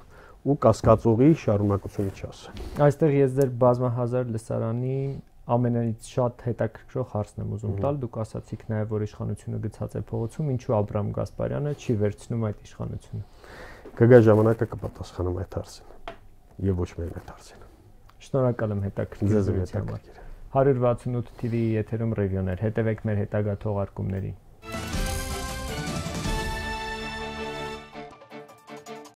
ու կասկածողի շարունակությունը չասեմ։ Այստեղ ես ձեր բազմահազար լսարանի ամենից շատ հետաքրքրող հարցն եմ ուզում տալ, դուք ասացիք նաև, որ իշխանությունը գցած է փողոցում, ինչու Աբրահամ Գասպարյանը չի վերցնում այդ իշխանությունը։ Կգա ժամանակը կպատասխանեմ այդ հարցին, եւ ոչ միայն այդ հարցին։ Շնորհակալ եմ հետաքրքիր զրույցի համար։ հարյուր վաթսունութ թիվի եթերում ռևյոներ, հետևեք մեր հետագա թողարկումներին։